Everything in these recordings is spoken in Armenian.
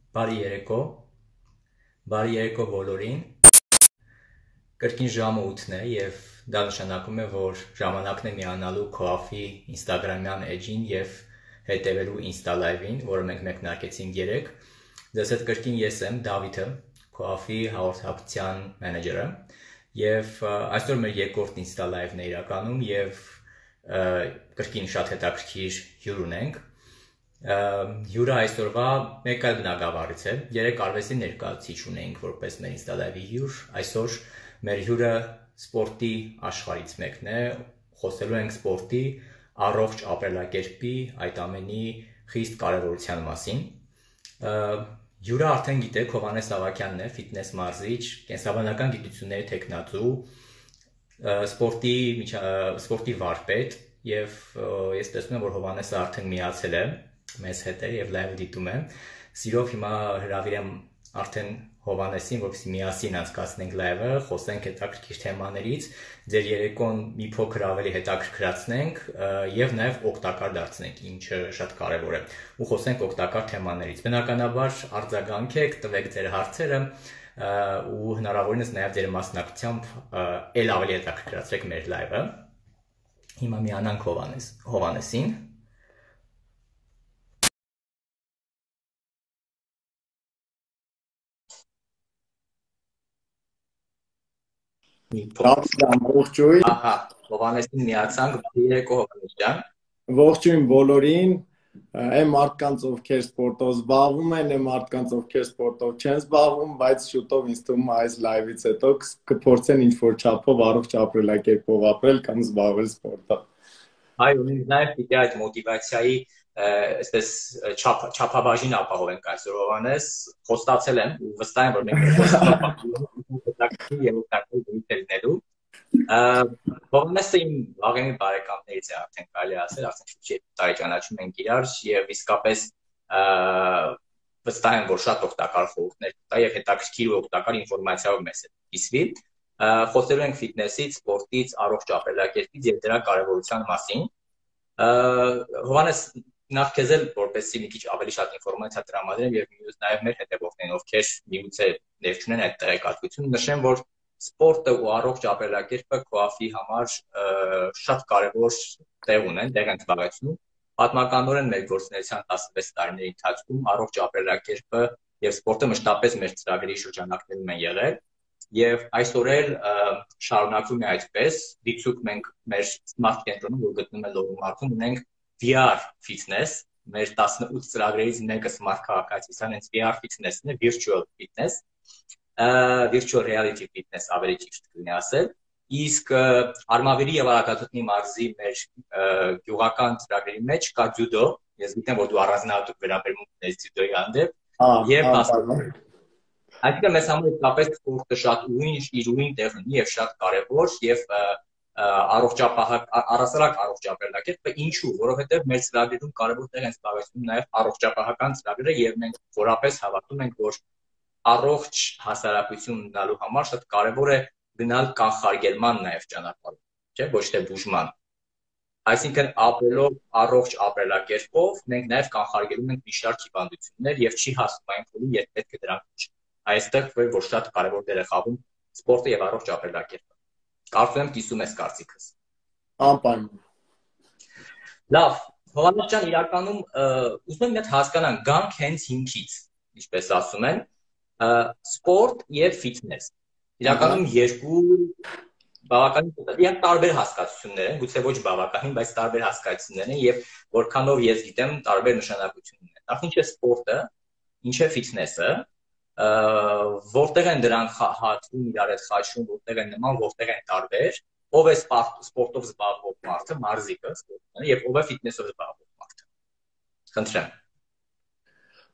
Բարի երեկո, բարի երեկո բոլորին, կրկին ժամը 8-ն է և դա նշանակում է, որ ժամանակն է միանալու Քոաֆի ինստագրամյան էջին և հետևելու ինստա լայվին, որը մենք մեկնարկեցինք երեկ։ Ձեզ հետ կրկին ես եմ Դավիթը, Քոաֆի հաղորդակցության մենեջերը, և այսօր մեր երկրորդ ինստա լայվն է իրականում և կրկին շատ հետաքրքիր հյուր ունենք։ Հյուրը այսօրվա մեկ այլ բնագավառից է, երեկ արվեստի ներկայացուցիչ ունեինք որպես մեր ինստա լայվի հյուր, այսօր մեր հյուրը սպորտի աշխարհից մեկն է, խոսելու ենք սպորտի, առողջ ապրելակերպի, այդ ամենի խիստ կարևորության մասին։ Հյուրը արդեն գիտեք, Հովհաննես Ավագյանն է, ֆիթնես մարզիչ, կենսաբանական գիտությունների թեկնածու, սպորտի վարպետ, և ես տեսնում եմ, որ Հովհաննեսը արդեն միացել է մեզ հետ է և լայվը դիտում է։ Սիրով հիմա հրավիրեմ արդեն Հովհաննեսին, որպեսզի միասին անցկացնենք լայվը, խոսենք հետաքրքիր թեմաներից, ձեր երեկոն մի փոքր ավելի հետաքրքրացնենք և նաև օգտակար դարձնենք, ինչը շատ կարևոր է, ու խոսենք օգտակար թեմաներից։ Բնականաբար արձագանքեք, տվեք ձեր հարցերը ու հնարավորինս նաև ձեր մասնակցությամբ էլ ավելի հետաքրքրացրեք մեր լայվը։ Հիմա միանանք Հովհաննեսին։ Ողջույն։ Ահա, Հովհաննեսին միացանք, բարի երեկո Հովհաննես ջան։ Ողջույն բոլորին, այն մարդկանց, ովքեր սպորտով զբաղվում են, այն մարդկանց, ովքեր սպորտով չեն զբաղվում, բայց շուտով ինձ թվում է այս լայվից հետո կփորձեն ինչ-որ չափով առողջ ապրելակերպով ապրել կամ զբաղվել սպորտով։ Այո, նաև պիտի այդ մոտիվացիայի այսպես չափաբաժին ապահովենք այսօր Հովհաննես, խոստացել եմ ու վստահ եմ, որ մենք Հովհաննեսը իմ վաղեմի բարեկամներից է արդեն կարելի ասել, արդեն շուտ 2 տարի ճանաչում ենք իրար և իսկապես վստահ եմ, որ շատ օգտակար խորհուրդներ կտա և հետաքրքիր ու օգտակար ինֆորմացիայով մեզ հետ կիսվի։ Խոսելու ենք ֆիթնեսից, սպորտից, առողջ ապրելակերպից և դրա կարևորության մասին։ Հովհաննես, նախ քեզ էլ որպեսզի մի քիչ ավելի շատ ինֆորմացիա տրամադրեմ և նաև մեր հետևողներին, ովքեր միգուցե ներք չունեն այդ տեղեկատվությունը, նշեմ, որ սպորտը ու առողջ ապրելակերպը Քոաֆի համար շատ կարևոր տեղ ունեն, տեղ են զբաղեցնում։ Պատմականորեն մեր գործունեության 16 տարիների ընթացքում առողջ ապրելակերպը և սպորտը մշտապես մեր ծրագրերի շրջանակներում են եղել և այսօր էլ շարունակվում է այդպես, դիցուք մենք մեր Smart կենտրոնում, որ գտնվում է Լոռու մարզում, ունենք VR fitness, մեր 18 ծրագրերից մեկը Smart քաղաքացիության հենց VR fitness-ն է, virtual fitness, virtual reality fitness ավելի ճիշտ կլինի ասել, իսկ Արմավիրի և Արագածոտնի մարզի մեր գյուղական ծրագրերի մեջ կա ձյուդո, ես գիտեմ, որ դու առանձնահատուկ վերաբերմունք ունես ձյուդոյի հանդեպ, և այսինքն մեզ համար իսկապես սպորտը շատ իր ուրույն տեղ ունի և շատ կարևոր և առհասարակ առողջ ապրելակերպը, ինչու, որովհետև մեր ծրագրերում կարևոր տեղ են զբաղեցնում նաև առողջապահական ծրագրերը և մենք խորապես հավատում ենք, որ առողջ հասարակություն ունենալու համար շատ կարևոր է գնալ կանխարգելման նաև ճանապարհով, չէ, ոչ թե բուժման։ Այսինքն ապրելով առողջ ապրելակերպով մենք նաև կանխարգելում ենք մի շարք հիվանդություններ և չի հասնում այն փուլին, երբ պետք է դրանք բուժել։ Այստեղ որ շատ կարևոր դեր է խաղում սպորտը և առողջ ապրելակերպը։ Կարծում եմ կիսում ես կարծիքս։ Անպայման։ Լավ, Հովհաննես ջան, իրականում ուզում եմ մի հատ հասկանանք, գանք հենց հիմքից, ինչպես ասում են, սպորտ և ֆիթնես։ Իրականում երկու բավականին տարբեր հասկացություններ են, գուցե ոչ բավականին, բայց տարբեր հասկացություններ են և որքանով ես գիտեմ, տարբեր նշանակություն ունեն։ Նախ ինչ է սպորտը, ինչ է ֆիթնեսը, որտեղ են դրանք հատվում իրար հետ խաչվում, որտեղ են նման, որտեղ են տարբեր, ով է սպորտով զբաղվող մարդը, մարզիկը, և ով է ֆիթնեսով զբաղվող մարդը։ Խնդրեմ։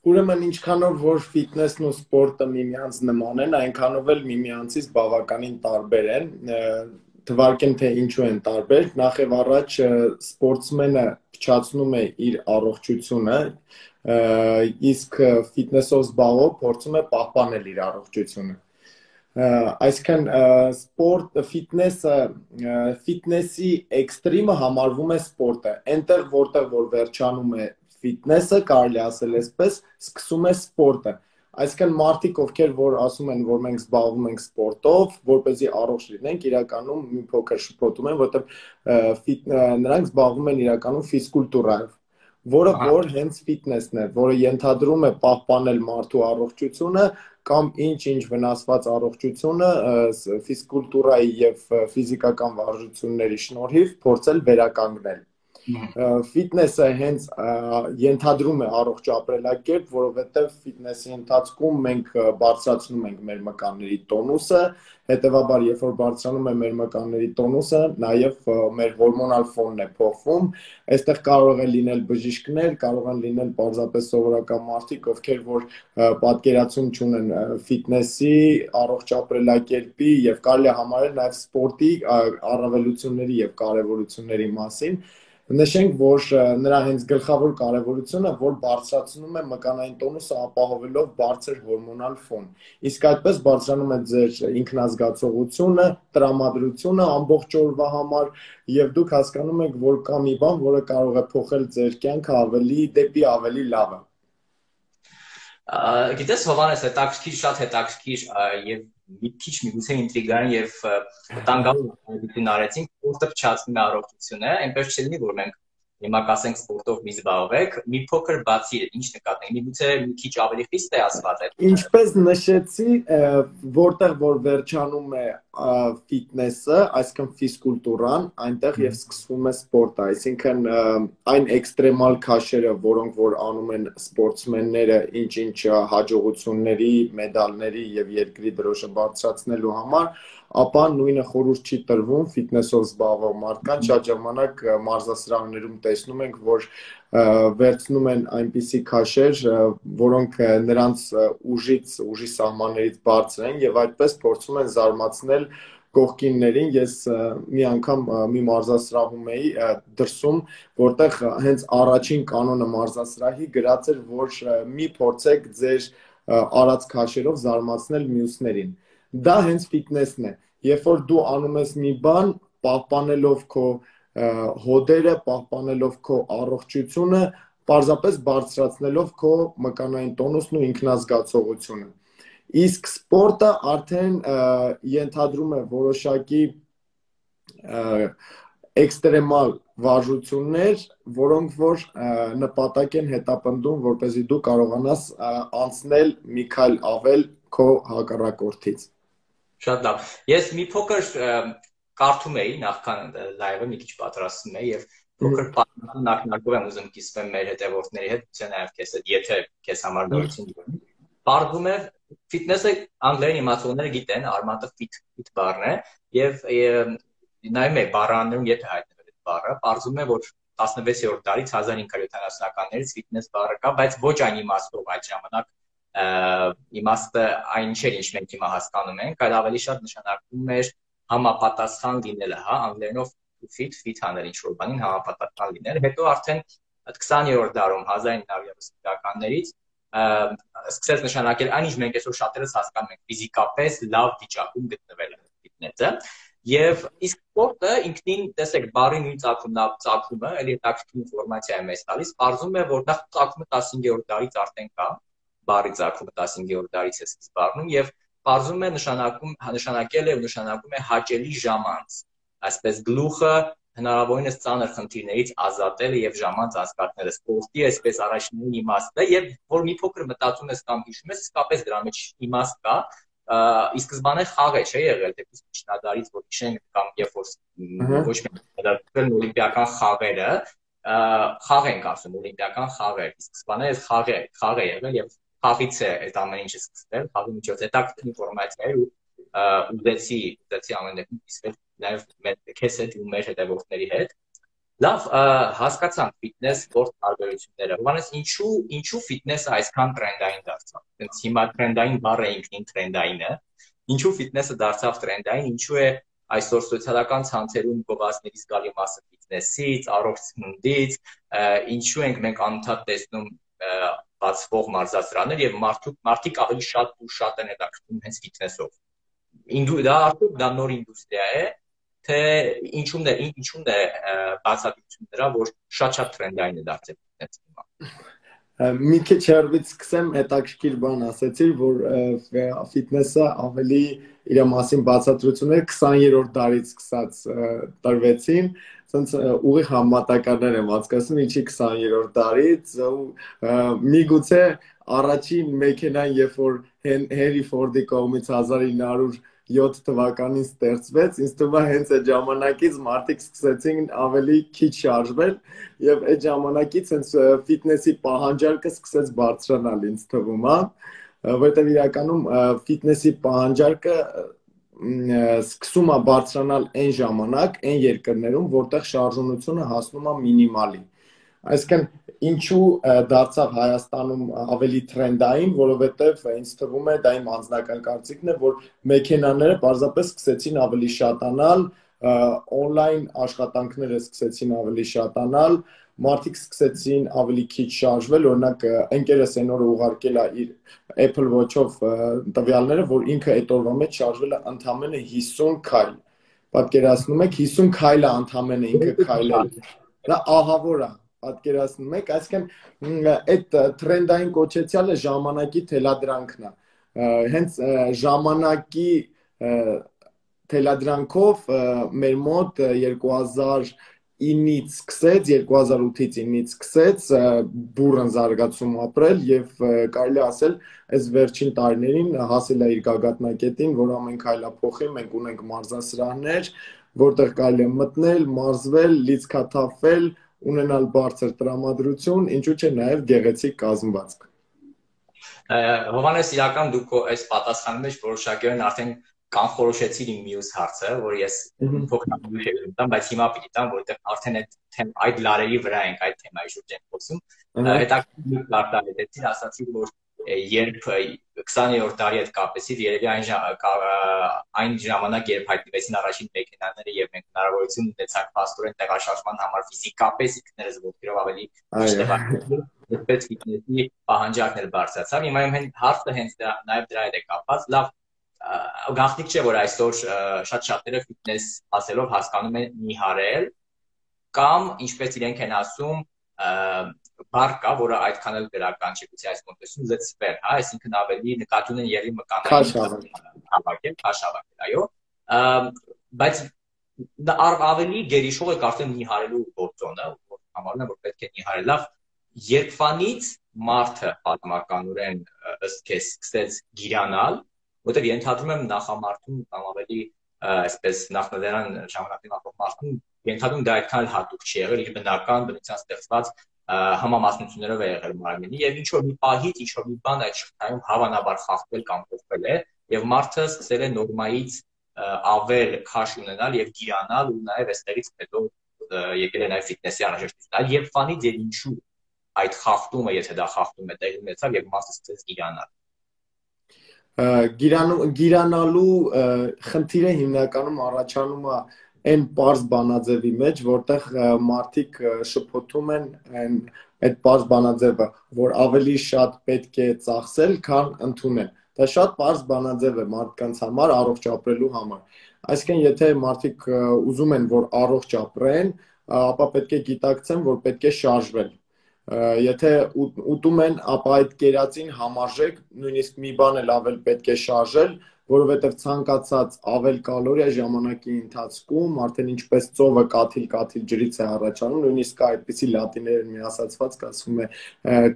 Ուրեմն ինչքանով որ ֆիթնեսն ու սպորտը միմյանց նման են, այնքանով էլ միմյանցից բավականին տարբեր են։ Թվարկեմ, թե ինչու են տարբեր։ Նախ եւ առաջ սպորտսմենը փչացնում է իր առողջությունը, իսկ ֆիթնեսով զբաղվող փորձում է պահպանել իր առողջությունը։ Այսինքն սպորտ ֆիթնեսի էքստրիմը համարվում է սպորտը, այնտեղ որտեղ որ վերջանում է ֆիթնեսը, կարելի ասել այսպես, սկսում է սպորտը։ Այսինքն մարդիկ, ովքեր որ ասում են, որ մենք զբաղվում ենք սպորտով, որպեսզի առողջ լինենք, իրականում մի փոքր շփոթում են, որովհետև նրանք զբաղվում են իրականում ֆիզկուլտուրայով, որը որ հենց ֆիթնեսն է, որը ենթադրում է պահպանել մարդու առողջությունը կամ ինչ վնասված առողջությունը ֆիզկուլտուրայի եւ ֆիզիկական վարժությունների շնորհիվ փորձել վերականգնել։ Ֆիթնեսը հենց ենթադրում է առողջ ապրելակերպ, որովհետև ֆիթնեսի ընթացքում մենք բարձրացնում ենք մեր մկանների տոնուսը, հետևաբար երբ որ բարձրանում է մեր մկանների տոնուսը, նաև մեր հորմոնալ ֆոնն է փոխվում, այստեղ կարող է լինել բժիշկներ, կարող են լինել պարզապես սովորական մարդիկ, ովքեր որ պատկերացում չունեն ֆիթնեսի, առողջ ապրելակերպի եւ կարելի է համարել նաև սպորտի առավելությունների եւ կարեւորությունների մասին։ Նշենք, որ նրա հենց գլխավոր կարևորությունը, որ բարձրացնում է մկանային տոնուսը ապահովելով բարձր հորմոնալ ֆոն։ Իսկ այդպես բարձրանում է ձեր ինքնազգացողությունը, տրամադրությունը ամբողջ օրվա համար եւ դուք հասկանում եք, որ կա մի բան, որը կարող է փոխել ձեր կյանքը դեպի ավելի լավը։ Գիտես Հովանես, շատ հետաքրքիր եւ մի քիչ միգուցե ինտրիգային եւ տանգապ արեցինք, որտեղ փչացնում է առողջությունը, այնպես չլինի, որ մենք հիմա կասենք սպորտով մի զբաղվեք, մի փոքր բացի ինչ նկատենք, միգուցե մի քիչ ավելի խիստ է ասված այդ։ Ինչպես նշեցի, որտեղ որ վերջանում է ֆիթնեսը, այսինքն ֆիզկուլտուրան, այնտեղ եւ սկսվում է սպորտը, այսինքն այն էքստրեմալ քաշերը, որոնք որ անում են սպորտսմենները, ինչ հաջողությունների, մեդալների եւ երկրի դրոշը բարձրացնելու համար, ապա նույնը խորհուրդ չի տրվում ֆիթնեսով զբաղվող մարդկանց, շատ ժամանակ մարզասրահներում տեսնում ենք, որ վերցնում են այնպիսի քաշեր, որոնք նրանց ուժի սահմաններից բարձր են եւ այդպես փորձում են զարմացնել կողքիններին։ Ես մի անգամ մի մարզասրահում էի դրսում, որտեղ հենց առաջին կանոնը մարզասրահի գրած էր, որ մի փորձեք ձեր արած քաշերով զարմացնել մյուսներին։ Դա հենց ֆիթնեսն է։ Երբ որ դու անում ես մի բան, պահպանելով քո հոդերը, պահպանելով քո առողջությունը, պարզապես բարձրացնելով քո մկանային տոնուսն ու ինքնազգացողությունը։ Իսկ սպորտը արդեն ենթադրում է որոշակի էքստրեմալ վարժություններ, որոնք որ նպատակ են հետապնդում, որպեսզի դու կարողանաս անցնել մի քայլ ավել քո հակառակորդից։ Շատ լավ։ Ես մի փոքր կարդում էի նախքան լայվը մի քիչ պատրաստում էի եւ փոքր ակնարկով եմ ուզում կիսվեմ մեր հետևորդների հետ, ցե նաեւ քեզ հետ, եթե քեզ համար նորություն դառնա։ Պարզվում է ֆիթնեսը անգլերեն իմացողները գիտեն, արմատը ֆիթ բառն է եւ նայում եք բառաներում եթե հայտնվել այդ բառը, պարզվում է որ 16-րդ դարից 1570-ականներից ֆիթնես բառը կա, բայց ոչ այն իմաստով այդ ժամանակ իմաստը այն չէր, ինչ մենք հիմա հասկանում ենք, այլ ավելի շատ նշանակում էր համապատասխան լինելը, հա, անգլերենով fit անել ինչ-որ բանին համապատասխան լինել։ Հետո արդեն 20-րդ դարում 1930-ականներից սկսեց նշանակել այն, ինչ մենք այսօր շատերս հասկանում ենք, ֆիզիկապես լավ վիճակում գտնվելը ֆիթնեսը։ Եվ իսկ սպորտը ինքնին, տեսեք, բառի նույն ծագումը, էլի հետաքրքիր ինֆորմացիա է մեզ տալիս, պարզվում է, որ նախ ծագումը 15-րդ դարից արդեն կա, բառի ծագումը 15-րդ դարից է սկիզբ առնում եւ պարզվում է նշանակել է ու նշանակում է հաճելի ժամանց, այսպես գլուխը հնարավորինս ծանր խնդիրներից ազատելը եւ ժամանց անցկացնելը, սպորտի այսպես առաջին իմաստը եւ որ մի փոքր մտածում ես կամ հիշում ես, իսկապես դրա մեջ իմաստ կա, ի սկզբանե խաղ է չէ եղել, դեպի միջնադարից որ հիշենք կամ երբ որ ոչ միայն օլիմպիական խաղերը, խաղ ենք ասում, օլիմպիական խաղեր, ի սկզբանե այս խաղ է եղել եւ խաղից է այդ ամեն ինչը սկսվել, խաղի միջոց հետաքրքիր ինֆորմացիա էր ու ուզեցի ամեն դեպքում կիսվել նաև քեզ հետ ու մեր հետևորդների հետ։ Լավ, հասկացանք ֆիթնես սպորտ տարբերությունները։ Հովանես, ինչու ֆիթնեսը այսքան տրենդային դարձավ։ Դենց հիմա տրենդային բառը ինքնին տրենդային է։ Ինչու ֆիթնեսը դարձավ տրենդային, ինչու է այսօր սոցիալական ցանցերում գովազդների զգալի մասը ֆիթնեսից, առողջ սննդից, ինչու ենք մենք անընդհատ տեսնում բացվող մարզասրահներ եւ մարդիկ ավելի շատ են հետաքրքրում հենց ֆիթնեսով։ Դա արդյոք դա նոր ինդուստրիա է, թե ինչու՞մն է բացատրությունը դրա, որ շատ տրենդային է դարձել ֆիթնեսը հիմա։ Մի քիչ հեռվից սկսեմ, հետաքրքիր բան ասեցիր, որ ֆիթնեսը ավելի իր մասին բացատրություններ 20-րդ դարից սկսած տրվեցին, ասենց ուղիղ համատականներ եմ հասկացնում, ինչի 20-րդ դարից, միգուցե առաջին մեքենան, երբ որ Հենրի Ֆորդի կողմից 1907 թվականին ստեղծվեց, ինձ թվում է հենց այդ ժամանակից մարդիկ սկսեցին ավելի քիչ շարժվել եւ այդ ժամանակից հենց ֆիթնեսի պահանջարկը սկսեց բարձրանալ ինձ թվում է, որտեղ իրականում ֆիթնեսի պահանջարկը սկսում է բարձրանալ այն ժամանակ, այն երկրներում, որտեղ շարժունությունը հասնում է մինիմալի։ Այսինքն ինչու դարձավ Հայաստանում ավելի տրենդային, որովհետև ինձ թվում է դա իմ անձնական կարծիքն է, որ մեքենաները պարզապես սկսեցին ավելի շատանալ, on-line աշխատանքները սկսեցին ավելի շատանալ, մարդիկ սկսեցին ավելի քիչ շարժվել, օրինակ ընկերս այն օրը ուղարկել է իր Apple Watch-ով տվյալները, որ ինքը այդ օրվա մեջ շարժվել է ընդամենը 50 քայլ։ Պատկերացնում եք, 50 քայլը ընդամենը ինքը քայլել։ Դա ահավոր է, պատկերացնում եք, այսինքն այդ տրենդային կոչեցյալը ժամանակի թելադրանքն է։ Հենց ժամանակի թելադրանքով մեր մոտ 2009-ից սկսեց, 2008-ից 9-ից սկսեց բուռն զարգացում ապրել եւ կարելի ասել այս վերջին տարիներին հասել է իր գագաթնակետին, որ ամեն քայլա փոխի, մենք ունենք մարզասրահներ, որտեղ կարելի է մտնել, մարզվել, լիցքաթափվել, ունենալ բարձր տրամադրություն, ինչու՞ չէ նաև գեղեցիկ կազմվածք։ Հովհաննես, իրական դուք այս պատասխանի մեջ որոշակիորեն արդեն կանխորոշեցիր իմ մյուս հարցը, որ ես փոխանցում եմ, բայց հիմա պիտի տամ, որովհետև արդեն այդ լարերի վրա ենք այդ թեմայի շուրջ ենք խոսում։ Հետաքրքիր կարտահայտեցիր, ասացիր, որ երբ 20-րդ դարի հետ կապեցիր, երևի այն ժամանակ, երբ հայտնվեցին առաջին մեքենաները եւ մենք հնարավորություն ունեցանք փաստորեն տեղաշարժման համար ֆիզիկապես ինքներս ոտքերով ավելի տեղաշարժվել, այդպես ֆիթնեսի պահանջարկն էլ բարձրացավ։ Հիմա հարցը հենց նաեւ դրա հետ է կապված, լավ գաղտնիք չէ, որ այսօր շատ շատերը ֆիթնես ասելով հասկանում են նիհարել կամ ինչպես իրենք են ասում բառ կա, որը այդքան էլ գրական չի, գուցե այս կոնտեքստում լցվել, հա, այսինքն ավելի նկատի ունեն եղի մկանային հավաքել, քաշավաքել, այո, բայց դա ավելի գերիշխող է արդեն նիհարելու գործոնը, որ համարում եմ, որ պետք է նիհարել, լավ, երբվանից մարդը պատմականորեն ըստ քեզ սկսեց գիրանալ, որտեղ ենթադրում եմ նախամարդում կամ ավելի այսպես նախնադարան ժամանակին ապրող մարդուն ենթադրում դա այդքան հատուկ չի եղել, իր բնական բնության ստեղծված համամասնություններով է եղել մարմինի եւ ինչ որ մի պահից ինչ որ մի բան այդ շղթայում հավանաբար խախտվել կամ փոխվել է եւ մարդը սկսել է նորմայից ավել քաշ ունենալ եւ գիրանալ ու նաեւ այստեղից հետո եկել է նաեւ ֆիթնեսի անհրաժեշտություն։ Երբ ֆանից եւ ինչու այդ խախտումը, եթե դա խախտում է տեղի ունեցավ եւ մարդը սկսեց գիրանալ։ Գիրանալու խնդիրը հիմնականում առաջանում է այն պարզ բանաձևի մեջ, որտեղ մարդիկ շփոթում են այդ պարզ բանաձևը, որ ավելի շատ պետք է ծախսել, քան ընդունել։ Դա շատ պարզ բանաձև է մարդկանց համար, առողջ ապրելու համար։ Այսինքն, եթե մարդիկ ուզում են, որ առողջ ապրեն, ապա պետք է գիտակցեն, որ պետք է շարժվել։ Եթե ուտում են, ապա այդ կերածին համարժեք, նույնիսկ մի բան էլ ավել պետք է շարժել, որովհետև ցանկացած ավել կալորիա ժամանակի ընթացքում արդեն ինչպես ծովը կաթիլ ջրից է առաջանում, նույնիսկ այդպիսի լատիներեն մի ասացված ասվում է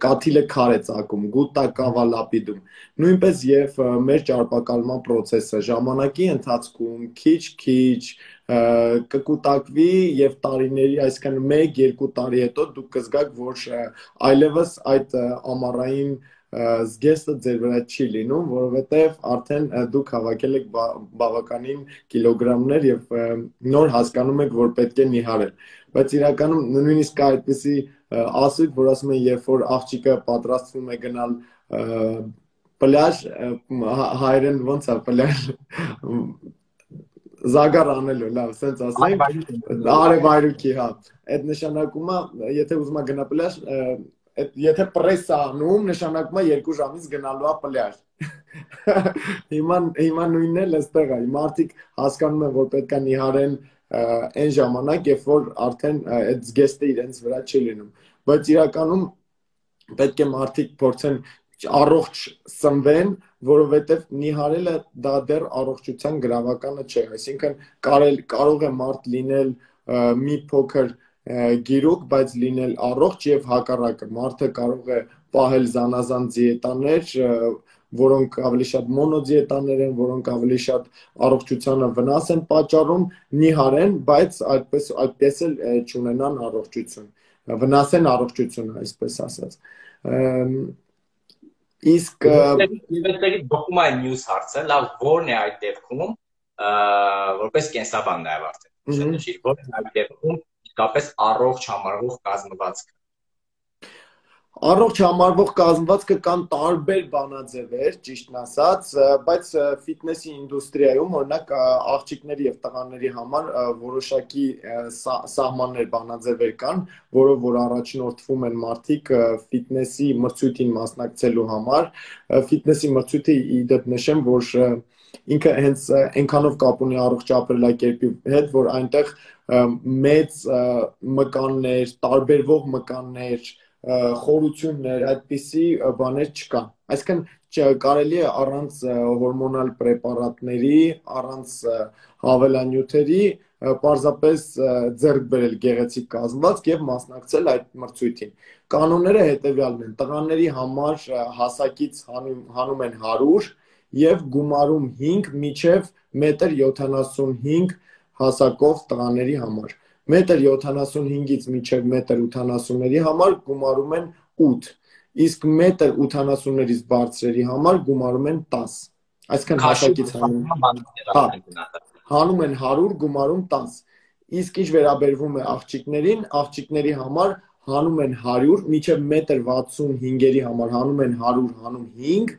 կաթիլը քար է ծակում, gutta cava lapidum։ Նույնպես եւ մեր ճարպակալման process-ը ժամանակի ընթացքում քիչ կկուտակվի եւ տարիների, այսինքն 1-2 տարի հետո դուք կզգաք, որ այլևս այդ ամառային զգեստը ձեր վրա չի լինում, որովհետև արդեն դուք հավաքել եք բավականին կիլոգրամներ եւ նոր հասկանում եք, որ պետք է նիհարել։ Բայց իրականում նույնիսկ այդպիսի ասույթ, որ ասում են, երբ որ աղջիկը պատրաստվում է գնալ պլաժ, հայերեն ոնց է պլաժ զագար անելու, լավ, սենց ասենք, արևայրուքի, հա, այդ նշանակում է, եթե ուզում է գնա պլաժ, եթե պրես է անում, նշանակում է 2 ժամից գնալու է պլաժ։ Հիմա նույնն էլ այստեղ է, մարդիկ հասկանում են, որ պետք է նիհարեն այն ժամանակ, երբ որ արդեն այդ զգեստը իրենց վրա չի լինում, բայց իրականում պետք է մարդիկ փորձեն առողջ սնվեն, որովհետև նիհարելը դա դեռ առողջության գրավականը չէ, այսինքն կարող է մարդ լինել մի փոքր գիրուկ, բայց լինել առողջ եւ հակառակը, մարդը կարող է պահել զանազան դիետաներ, որոնք ավելի շատ մոնոդիետաներ են, որոնք ավելի շատ առողջությանը վնաս են պատճառում, նիհարեն, բայց այդպես էլ չունենան առողջություն, վնասեն առողջությունը, այսպես ասած։ Իսկ դոկումենտի մյուս հարցը, լավ, որն է այդ դեպքում, որպես կենսաբան նաև արդեն նշիր, որն է այդ դեպքում իսկապես առողջ համարվող կազմվածքը։ Առողջ համարվող կազմվածքը կան տարբեր բանաձևեր, ճիշտն ասած, բայց ֆիթնեսի ինդուստրիայում, օրինակ, աղջիկների եւ տղաների համար որոշակի սահմաններ, բանաձևեր կան, որով որ առաջնորդվում են մարդիկ ֆիթնեսի մրցույթին մասնակցելու համար։ Ֆիթնեսի մրցույթը ի դեպ նշեմ, որ ինքը հենց այնքանով կապ ունի առողջ ապրելակերպի հետ, որ այնտեղ մեծ մկաններ, տարբերվող մկաններ, խորություններ, այդպիսի բաներ չկան։ Այսինքն կարելի է առանց հորմոնալ պրեպարատների, առանց հավելանյութերի պարզապես ձեռք բերել գեղեցիկ կազմվածք եւ մասնակցել այդ մրցույթին։ Կանոնները հետեւյալն են. տղաների համար հասակից հանում են 100 եւ գումարում 5 մինչեւ 1.75 հասակով տղաների համար։ 1.75-ից մինչև 1.80-ների համար գումարում են 8, իսկ 1.80-ներից բարձրերի համար գումարում են 10։ Այսինքն հասակից հանում են 100, գումարում 10։ Իսկ ինչ վերաբերվում է աղջիկներին, աղջիկների համար հանում են 100, մինչև 1.65-երի համար հանում են 100, հանում 5,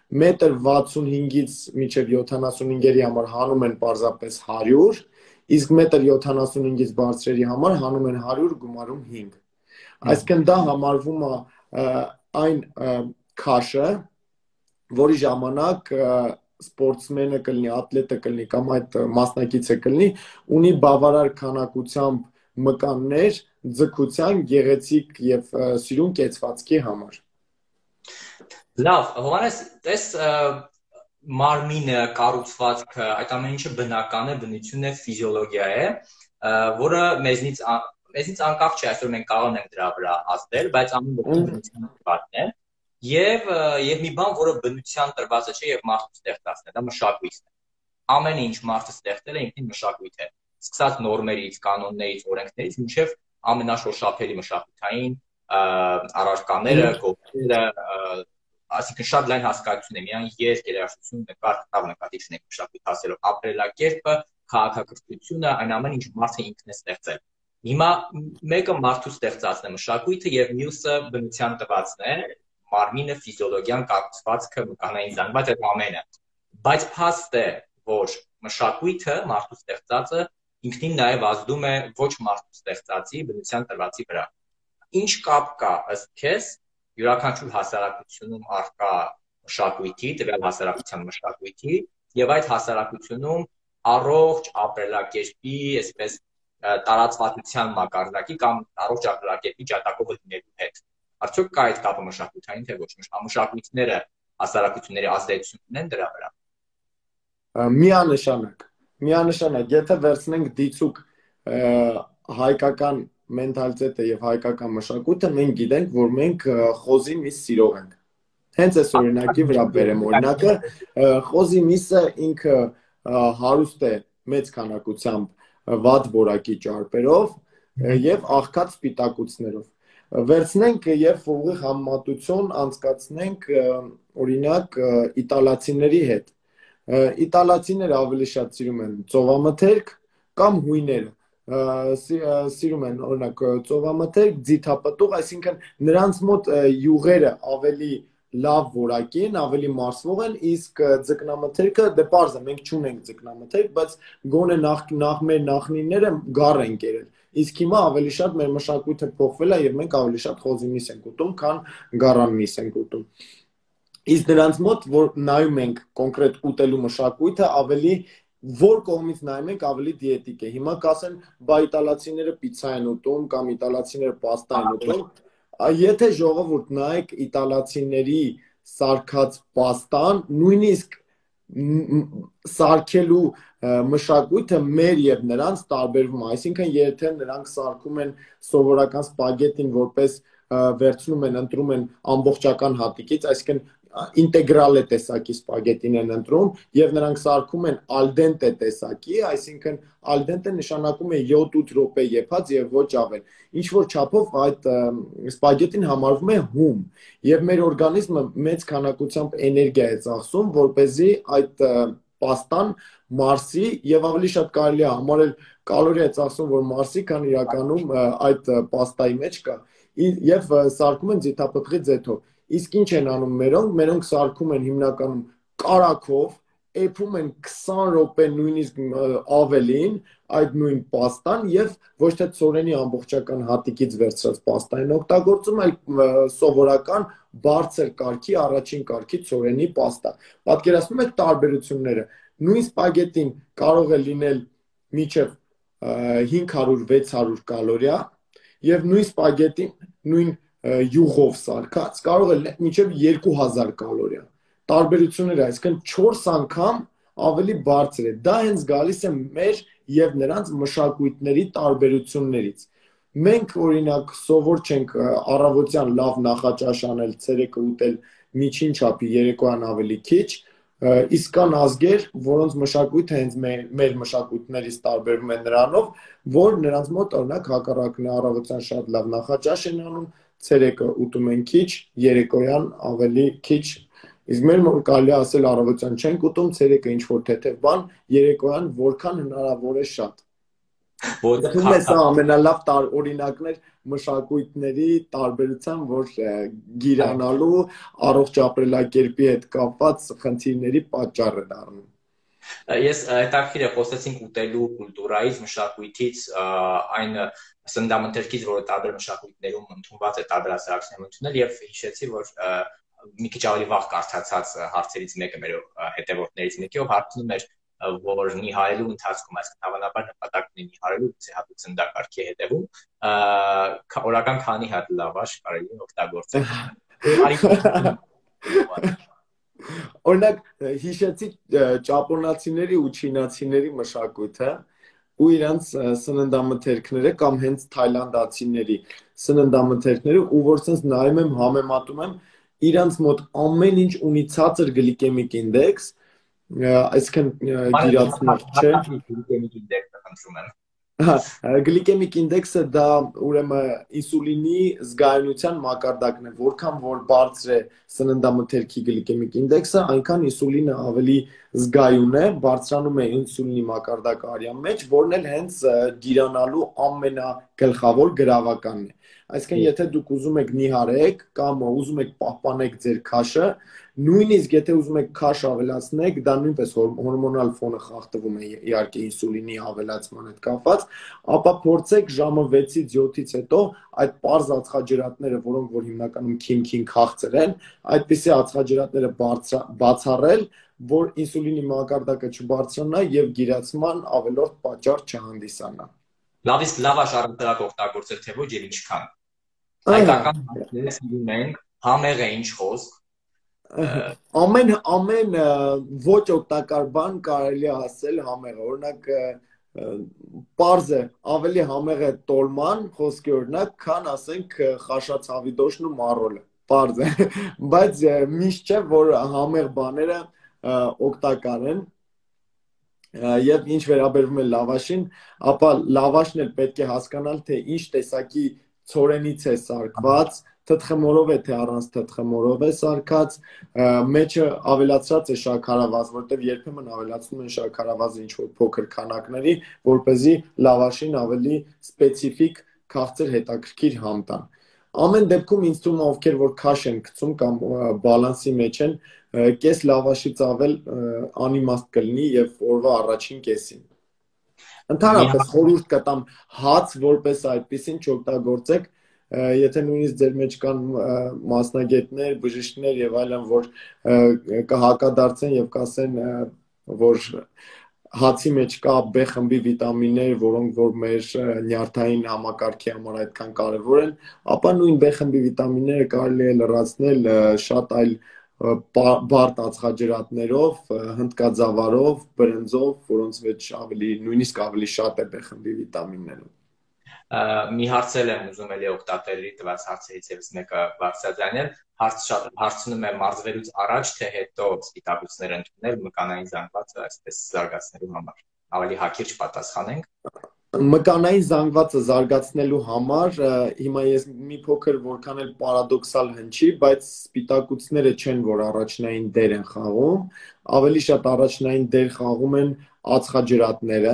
1.65-ից մինչև 75-երի համար հանում են պարզապես 100, իսկ 1.75-ից բարձրերի համար հանում են 100, գումարում 5։ Այսինքն դա համարվում է այն քաշը, որի ժամանակ սպորտսմենը կլինի, ատլետը կլինի կամ այդ մասնակիցը կլինի, ունի բավարար քանակությամբ մկաններ ձգության, գեղեցիկ եւ սիրուն կեցվածքի համար։ Լավ, Հովհաննես, տես մարմինը, կառուցվածքը, այդ ամեն ինչը բնական է, բնություն է, ֆիզիոլոգիա է, որը մեզնից անկախ չէ, այսօր մենք կարող ենք դրա վրա ազդել, բայց ամեն ոք բնության տրվածն է, եւ մի բան, որը բնության տրվածը չէ եւ մարդու ստեղծածն է, դա մշակույթն է։ Ամեն ինչ մարդը ստեղծել է ինքնին մշակույթ է, սկսած նորմերից, կանոններից, օրենքներից, մինչեւ ամենաշոշափելի մշակութային առարկաները, գոտիները, այսինքն շատ լայն հասկացություն է, միայն երկ, երաժշտություն, նկար, կտավ նկատի չունենք մշակույթ ասելով, ապրելակերպը, քաղաքակրթությունը, այն ամեն ինչ մարդը ինքն է ստեղծել։ Հիմա մեկը մարդու ստեղծածն է մշակույթը եւ մյուսը բնության տվածն է, մարմինը, ֆիզիոլոգիան, կառուցվածքը, մկանային զանգված այդ ամենը։ Բայց փաստ է, որ մշակույթը, մարդու ստեղծածը ինքնին նաեւ ազդում է ոչ մարդու ստեղծածի, բնության տրվածի վրա։ Ինչ կապ կա ըստ քեզ յուրաքանչյուր հասարակությունում առկա մշակույթի, տվյալ հասարակության մշակույթի եւ այդ հասարակությունում առողջ ապրելակերպի, այսպես տարածվածության մակարդակի կամ առողջ ապրելակերպի ջատագովը լինելու հետ։ Արդյոք կա այդ կապը մշակութային թե ոչ, մշակույթները հասարակությունների ազդեցություն ունեն դրա վրա։ Միանշանակ, եթե վերցնենք դիցուկ հայկական մենթալիտետը եւ հայկական մշակույթը, մենք գիտենք, որ մենք խոզի միս սիրող ենք։ Հենց այս օրինակի վրա բերեմ օրինակը, խոզի միսը ինքը հարուստ է մեծ քանակությամբ վատ որակի ճարպերով եւ աղքատ սպիտակուցներով։ Վերցնենք եւ ուղիղ համեմատություն անցկացնենք օրինակ իտալացիների հետ։ Իտալացիները ավելի շատ սիրում են ծովամթերք կամ հույները։ Սիրում են օրինակ ծովամթերք, ձիթապտուղ, այսինքն նրանց մոտ յուղերը ավելի լավ որակի են, ավելի մարսվող են, իսկ ձկնամթերքը դե պարզ է, մենք չունենք ձկնամթերք, բայց գոնե նախ մեր նախնիները գառ են կերել։ Իսկ հիմա ավելի շատ մեր մշակույթը փոխվել է եւ մենք ավելի շատ խոզի միս ենք ուտում, քան գառան միս ենք ուտում։ Իսկ նրանց մոտ, որ նայում ենք կոնկրետ ուտելու մշակույթը, ավելի որ կողմից նայում ենք ավելի դիետիկ է։ Հիմա կասեն, բա իտալացիները պիցցա են ուտում կամ իտալացիները պաստա են ուտում։ Եթե ժողովուրդ նայեք իտալացիների սարքած պաստան, նույնիսկ սարքելու մշակույթը մեր եւ նրանց տարբերվում է, այսինքն եթե նրանք սարքում են սովորական սպագետին որպես վերցնում են, ընտրում են ամբողջական հատիկից, այսինքն ինտեգրալ է տեսակի սպագետին են ընտրում եւ նրանք սարքում են al dente տեսակի, այսինքն al dente նշանակում է 7-8 րոպե եփած եւ ոչ ավել։ Ինչ որ չափով այդ սպագետին համարվում է հում եւ մեր օրգանիզմը մեծ քանակությամբ էներգիա է ծախսում, որպեսզի այդ պաստան մարսի եւ ավելի շատ կարելի է համարել կալորիա է ծախսում, որ մարսի, քան իրականում այդ պաստայի մեջ կա եւ սարքում են ձիթապտղի ձեթով։ Իսկ ինչ են անում մերոնք սարքում են հիմնականում կարագով, էփում են 20 րոպե նույնիսկ ավելին այդ նույն պաստան եւ ոչ թե ցորենի ամբողջական հատիկից վերցրած պաստա են օգտագործում, այլ սովորական բարձր կարգի, առաջին կարգի ցորենի պաստա։ Պատկերացնում եք տարբերությունները։ Նույն սպագետին կարող է լինել մինչև 500-600 կալորիա եւ նույն սպագետին, նույն յուղով սարքած կարող է մինչև 2000 կալորիա։ Տարբերությունները, այսինքն 4 անգամ ավելի բարձր է։ Դա հենց գալիս է մեր եւ նրանց մշակույթների տարբերություններից։ Մենք օրինակ սովոր չենք առավոտյան լավ նախաճաշ անել, ցերեկը ուտել միջին չափի, երեկոյան ավելի քիչ, իսկ կան ազգեր, որոնց մշակույթը հենց մեր մշակույթներից տարբերվում է նրանով, որ նրանց մոտ օրինակ հակառակն է, առավոտյան շատ լավ նախաճաշ են անում, ցերեկը ուտում են քիչ, երեկոյան ավելի քիչ, իսկ մեր մոտ կարելի է ասել առավոտյան չենք ուտում, ցերեկը ինչ որ թեթև բան, երեկոյան որքան հնարավոր է շատ։ Դու ես ամենալավ օրինակներ մշակույթների տարբերության, որ գիրանալու առողջ ապրելակերպի հետ կապված խնդիրների պատճառ է դառնում։ Ես հետաքրքիր է խոսեցինք ուտելու կուլտուրայից, մշակույթից, այն սննդամթերքից, որը տարբեր մշակույթներում ընդունված է, տարբեր հասարակություններում ընդունել, եւ հիշեցի, որ մի քիչ ավելի վաղ կարդացած հարցերից մեկը մեր հետևորդներից մեկի, ով հարցնում էր, որ նիհարելու ընթացքում, այսինքն հավանաբար նպատակ ունի նիհարելու հատուկ սննդակարգի հետևում, օրական քանի հատ լավաշ կարելի է օգտագործել։ Օրինակ հիշեցի ճապոնացիների ու չինացիների մշակույթը ու իրանց սննդամթերքները կամ հենց թայլանդացիների սննդամթերքները, ու որ sense նայում եմ, համեմատում եմ, իրանց մոտ ամեն ինչ ունի ցածր գլիկեմիկ ինդեքս, այսինքն գիրացնող չէ։ Գլիկեմիկ ինդեքսը խնդրում եմ։ Գլիկեմիկ ինդեքսը դա ուրեմն ինսուլինի զգայունության մակարդակն է, որքան որ բարձր է սննդամթերքի գլիկեմիկ ինդեքսը, այնքան ինսուլինը ավելի զգայուն է, բարձրանում է ինսուլինի մակարդակը արյան մեջ, որն էլ հենց գիրանալու ամենագլխավոր գրավականն է։ Այսինքն եթե դուք ուզում եք նիհարեք կամ ուզում եք պահպանեք ձեր քաշը, նույնիսկ եթե ուզում եք քաշ ավելացնեք, դա նույնպես հորմոնալ ֆոնը խախտվում է իհարկե ինսուլինի ավելացման հետ կապված, ապա փորձեք ժամը 6-ից 7-ից հետո այդ պարզ ածխաջրատները, որոնք որ հիմնականում քին քաղցր են, այդպիսի ածխաջրատները բացառել, որ ինսուլինի մակարդակը չբարձրանա եւ գիրացման ավելորդ պատճառ չհանդիսանա։ Լավ, իսկ լավաշ առընթերակ օգտագործել թե ոչ եւ ինչքան։ Հայկական հարցերը սիրում ենք, համեղ է ինչ խոսք։ Ամեն ոչ օգտակար բան կարելի է ասել համեղ է, օրինակ պարզ է, ավելի համեղ է տոլման, խոսքի օրինակ, քան ասենք խաշացավի դոշն ու մառոլը, պարզ է, բայց միշտ չէ, որ համեղ բաները օգտակար են։ Եվ ինչ վերաբերվում է լավաշին, ապա լավաշն էլ պետք է հասկանալ, թե ինչ տեսակի ցորենից է սարքված, թթխմորով է թե առանց թթխմորով է սարքած, մեջը ավելացրած է շաքարավազ, որտեղ երբեմն ավելացնում են շաքարավազը ինչ որ փոքր քանակների, որպեսզի լավաշին ավելի սպეციფიկ քաղցր հետաքրքիր համ տան։ Ամեն դեպքում ինձ թվում է ովքեր որ քաշ են գցում կամ բալանսի մեջ են, կես լավաշից ավել անիմաստ կլինի եւ օրվա առաջին կեսին։ Ընդհանրապես խորհուրդ կտամ հաց որպես այդպեսին չօգտագործեք, եթե նույնիսկ ձեր մեջ կան մասնագետներ, բժիշկներ եւ այլն, որ կհակադարձեն եւ կասեն, որ հացի մեջ կա B խմբի վիտամիններ, որոնք որ մեր նյարդային համակարգի համար այդքան կարևոր են, ապա նույն B խմբի վիտամինները կարելի է լրացնել շատ այլ բարդ ածխաջրատներով, հնդկաձավարով, բրնձով, որոնց մեջ նույնիսկ ավելի շատ է B խմբի վիտամինները։ Մի հարցել եմ ուզում էլի օգտատերերի տված հարցերից եւս մեկը բարձրաձայնել, հարցնում է մարզվելուց առաջ թե հետո սպիտակուցներ ընդունել մկանային զանգվածը այսպես զարգացնելու համար։ Ավելի հակիրճ պատասխանենք։ Մկանային զանգվածը զարգացնելու համար հիմա ես մի փոքր որքան էլ պարադոքսալ հնչի, բայց սպիտակուցները չեն, որ առաջնային դեր են խաղում, ավելի շատ առաջնային դեր խաղում են ածխաջրատները,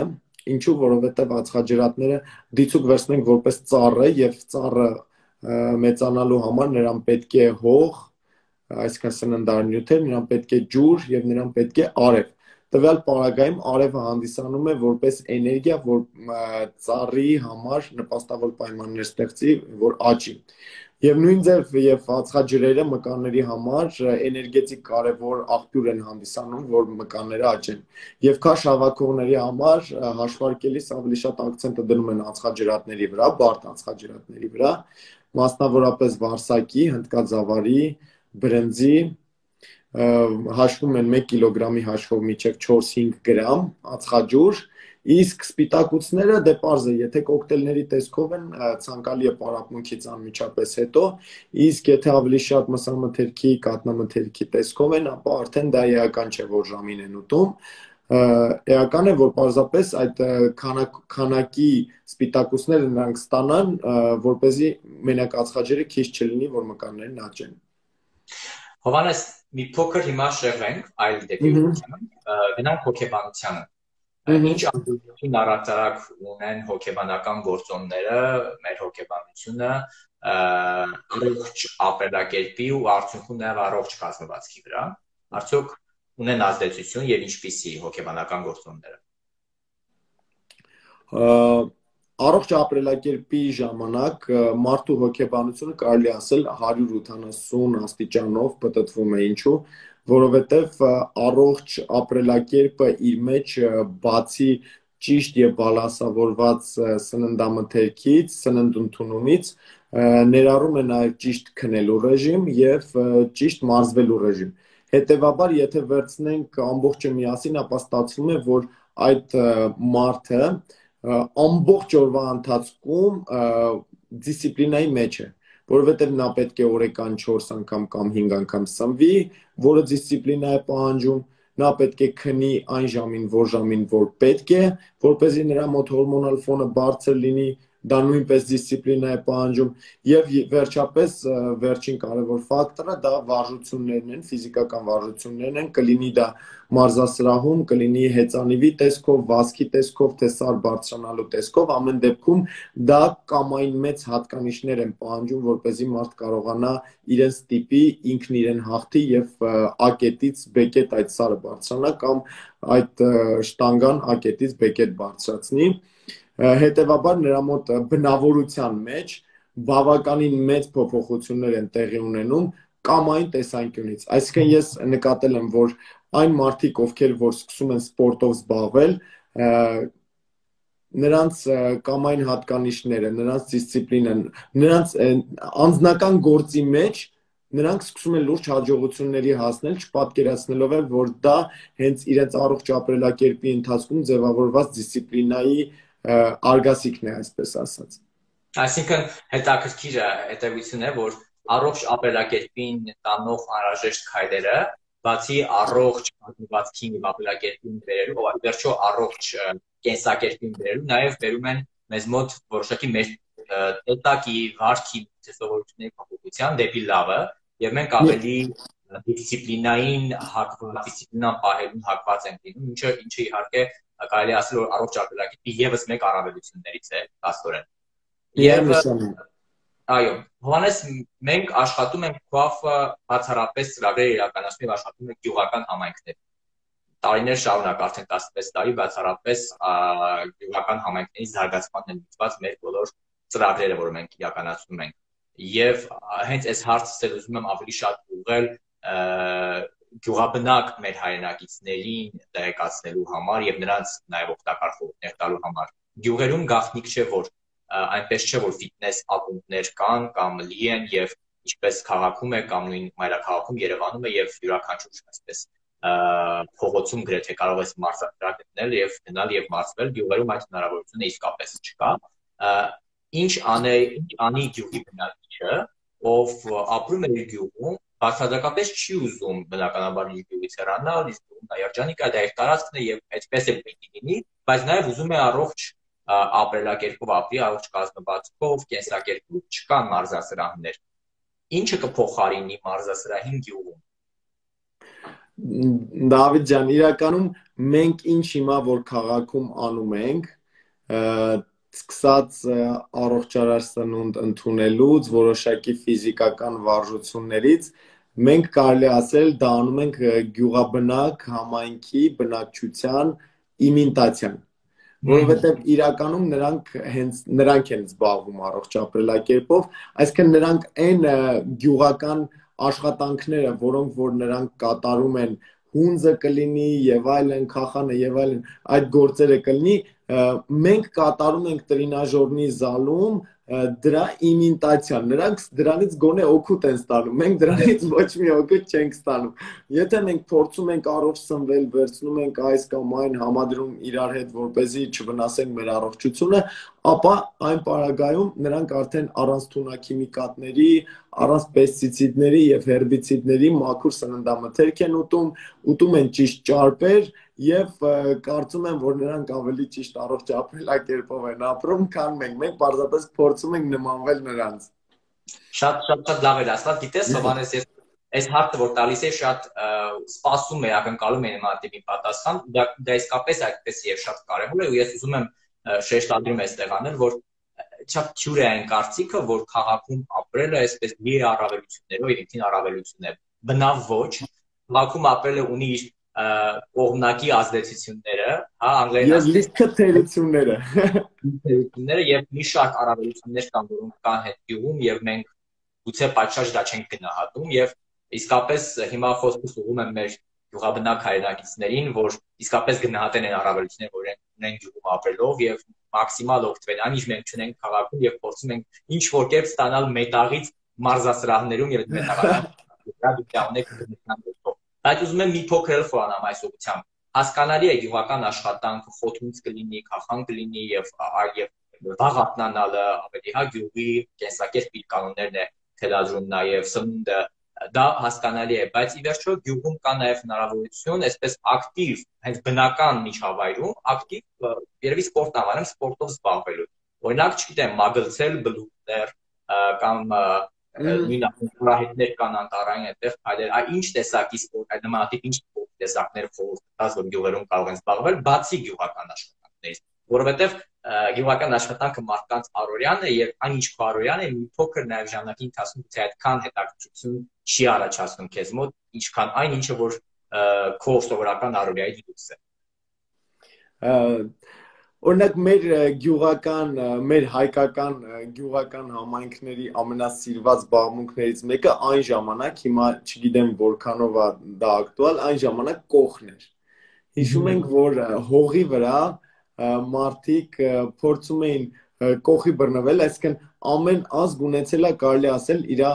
ինչու, որովհետև ածխաջրատները դիցուք վերցնենք որպես ծառը եւ ծառը մեծանալու համար նրան պետք է հող, այսինքն սննդարնյութեր, նրան պետք է ջուր եւ նրան պետք է արև։ Տվյալ պարագայում արևը հանդիսանում է որպես էներգիա, որ ծառի համար նպաստավոր պայմաններ ստեղծի, որ աճի։ Եվ նույն ձև եւ ածխաջրերը մկանների համար էներգետիկ կարևոր աղբյուր են հանդիսանում, որ մկանները աճեն։ Եվ քաշ հավաքողների համար հաշվարկելիս ավելի շատ ակցենտը դնում են ածխաջրատների վրա, բարդ ածխաջրատների վրա, մասնավորապես վարսակի, հնդկաձավարի, բրնձի, հաշվում են 1 կիլոգրամի հաշվով մինչև 4-5 գրամ ածխաջուր, իսկ սպիտակուցները դե պարզ է, եթե կոկտեյլների տեսքով են, ցանկալի է պարապմունքից անմիջապես հետո, իսկ եթե ավելի շատ մսամթերքի, կաթնամթերքի տեսքով են, ապա արդեն դա էական չէ, որ ժամին են ուտում, էական է, որ պարզապես այդ քանակի սպիտակուցները նրանք ստանան, որպեսզի մենակ ածխաջրը քիչ չլինի, որ մկաններն աճեն։ Հովհաննես, մի փոքր հիմա շեղվենք այլ դեպի ուղղությամբ, գնանք հոգեբանությանը։ Ինչ ազդեցություն առհասարակ ունեն հոգեբանական գործոնները, մեր հոգեբանությունը առողջ ապրելակերպի ու արդյունքում նաև առողջ կազմվածքի վրա։ Արդյոք ունեն ազդեցություն եւ ինչպիսի հոգեբանական գործոնները։ Առողջ ապրելակերպի ժամանակ մարդու հոգեբանությունը կարելի ասել 180 աստիճանով պտտվում է, ինչու, որովհետև առողջ ապրելակերպը իր մեջ բացի ճիշտ եւ բալանսավորված սննդամթերքից, սննդընդունումից ներառում է նաեւ ճիշտ քնելու ռեժիմ եւ ճիշտ մարզվելու ռեժիմ։ Հետևաբար, եթե վերցնենք ամբողջը միասին, ապա ստացվում է, որ այդ մարդը ամբողջ օրվա ընթացքում դիսցիպլինայի մեջ է, որովհետև նա պետք է օրական 4 անգամ կամ 5 անգամ սնվի, որը դիսցիպլինա է պահանջում, նա պետք է քնի այն ժամին, որ պետք է, որպեսզի նրա մոտ հորմոնալ ֆոնը բարձր լինի, դա նույնպես դիսցիպլինա է պահանջում եւ վերջապես վերջին կարևոր ֆակտորը դա վարժություններն են, ֆիզիկական վարժություններն են, կլինի դա մարզասրահում, կլինի հեծանիվի տեսքով, վազքի տեսքով, թե սար բարձրանալու տեսքով, ամեն դեպքում դա կամային մեծ հատկանիշներ են պահանջում, որպեսզի մարդ կարողանա իրեն ստիպի, ինքն իրեն հաղթի եւ A-կետից B-կետ այդ սարը բարձրանա կամ այդ շտանգան A-կետից B-կետ բարձրացնի։ Հետևաբար նրա մոտ բնավորության մեջ բավականին մեծ փոփոխություններ են տեղի ունենում կամային տեսանկյունից։ Այսինքն ես նկատել եմ, որ այն մարդիկ, ովքեր որ սկսում են սպորտով զբաղվել, նրանց կամային հատկանիշները, նրանց դիսցիպլինան, նրանց անձնական գործի մեջ նրանք սկսում են լուրջ հաջողությունների հասնել, չպատկերացնելով էլ, որ դա հենց իրենց առողջ ապրելակերպի ընթացքում ձևավորված դիսցիպլինայի արգասիքն է, այսպես ասած։ Այսինքն հետաքրքիր հետևություն է, որ առողջ ապրելակերպին տանող անհրաժեշտ քայլերը, բացի առողջ կազմվածքին եւ ապրելակերպին բերելու, վերջո առողջ կենսակերպին բերելու, նաեւ բերում են մեզ մոտ որոշակի մեր տեսակի, վարքի, տեսողությունների փոփոխության դեպի լավը, եւ մենք ավելի դիսցիպլինային հակված, դիսցիպլինան պահելուն հակված ենք լինում, ինչը իհարկե կարելի է ասել, որ առողջ ապրելակերպի եւս մեկ առավելություններից է աստորեն։ Եվ այո, Հովհաննես, մենք աշխատում ենք ԿՈԱՖ-ը բացառապես ծրագրեր իրականացնում եւ աշխատում ենք գյուղական համայնքներում։ Տարիներ շարունակ, արդեն 16 տարի բացառապես գյուղական համայնքների զարգացմանն են ուղղված մեր բոլոր ծրագրերը, որ մենք իրականացնում ենք։ Եվ հենց այս հարցը ուզում եմ ավելի շատ ուղղել գյուղաբնակ մեր հայրենակիցներին տեղեկացնելու համար եւ նրանց նաեւ օգտակար խորհուրդներ տալու համար գյուղերում գաղտնիք չէ որ այնպես չէ որ ֆիթնես ակումբներ կան կամ լի են եւ ինչպես քաղաքում է կամ նույն մայրաքաղաքում Երևանում է եւ յուրաքանչյուր այսպես փողոցում գրեթե կարող ես մարզասրահ գտնել եւ գնալ եւ մարզվել գյուղերում այդ հնարավորությունը իսկապես չկա ինչ անի գյուղի բնակիչը ով ապրում է իր գյուղում բացարձակապես չի ուզում բնականաբար իր գյուղից հեռանալ իսկ նա երջանիկ է դա իր տարածքն է եւ այդպես է պիտի լինի բայց նաեւ ուզում է առողջ ապրելակերպով ապրի առողջ կազմվածքով կենսակերպով չկան մարզասրահներ ինչը կփոխարինի մարզասրահին գյուղում Դավիթ ջան իրականում մենք ինչ հիմա որ քաղաքում անում ենք սկսած առողջարար սնունդ ընդունելուց որոշակի ֆիզիկական վարժություններից մենք կարելի ասել դա անում ենք գյուղաբնակ համայնքի բնակչության իմիտացիան որովհետև իրականում նրանք են զբաղվում առողջ ապրելակերպով այսինքն նրանք այն գյուղական աշխատանքները որոնք որ նրանք կատարում են հունձը կլինի եւ այլն քախանը եւ այլն այդ գործերը կլինի մենք կատարում ենք տրինաժորնի զալում դրա իմիտացիան նրանք դրանից գոնե օգուտ են ստանում մենք դրանից ոչ մի օգուտ չենք ստանում եթե մենք փորձում ենք առողջ սնվել վերցնում ենք այս կամ այն համադրում իրար հետ որպեսզի չվնասենք մեր առողջությունը ապա այն պարագայում նրանք արդեն առանց թունաքիմիկատների առանց պեստիցիդների եւ հերբիցիդների մաքուր սննդամթերք են ուտում են ճիշտ ճարպեր եւ կարծում եմ որ նրանք ավելի ճիշտ առողջ ապրելակերպով են ապրում քան մենք պարզապես փորձում ենք նմանվել նրանց շատ լավ է ասած գիտես Հովանես ես այս հարցը որ տալիս է շատ սպասում է ակնկալում է նման տիպի պատասխան դա իսկապես այդպես եւ շատ կարեւոր է ու ես ուզում եմ շեշտադրում այստեղ անել որ չափ թյուր է այն կարծիքը որ քաղաքում ապրելը այսպես մի առավելություններով եւ ինքնին առավելություն է բնավ ոչ քաղաքում ապրելը ունի իր կողմնակի ազդեցությունները հա անգլերեն լիքը թերությունները եւ մի շարք առավելություններ կան որոնք կան հետ գյուղում եւ մենք գուցե պատշաճ դա չենք գնահատում եւ իսկապես հիմա խոսքս ուղղում եմ մեր գյուղաբնակ հայրենակիցներին որ իսկապես գնահատեն այն առավելությունները որ ունեն գյուղում ապրելով եւ մաքսիմալ օգտվել այն ինչ մենք չունենք քաղաքում եւ փորձում ենք ինչ որ կերպ ստանալ մետաղից մարզասրահներում եւ մետաղանք Այդ ուզում եմ մի փոքր էլ խորանամ այս ուղղությամբ։ Հասկանալի է գյուղական աշխատանքը խոթունց կլինի, քախան կլինի եւ վաղ արթնանալը ավելի հա գյուղի կենսակերպ իր կանոններն է թելադրում նաեւ սնունդը դա հասկանալի է, բայց ի վերջո գյուղում կա նաեւ հնարավորություն այսպես ակտիվ, հենց բնական միջավայրում ակտիվ երևի սպորտ անվանեմ, սպորտով զբաղվելու։ Օրինակ, չգիտեմ, մագլցել բլուկներ կամ նույն ակումբահետներ կան անտառային այդտեղ այլ ինչ տեսակի սպորտ այդ նմանատիպ ինչ տեսակներ խորհրդած որ գյուղերում կարող են զբաղվել բացի գյուղական աշխատանքներից որովհետև գյուղական աշխատանքը մարդկանց առօրյան է եւ այն ինչ քո առօրյան է մի փոքր նաեւ ժամանակի ընթացքում թե այդքան հետաքրքրություն չի առաջացնում քեզ մոտ ինչքան այն ինչը որ քո սովորական առօրյայի դուրս է Օրինակ մեր գյուղական, մեր հայկական գյուղական համայնքների ամենասիրված զբաղմունքներից մեկը այն ժամանակ, հիմա չգիտեմ որքանով է դա ակտուալ, այն ժամանակ կողն էր։ Հիշում ենք, որ հողի վրա մարդիկ փորձում էին կողի բռնվել, այսինքն ամեն ազգ ունեցել է կարելի ասել իր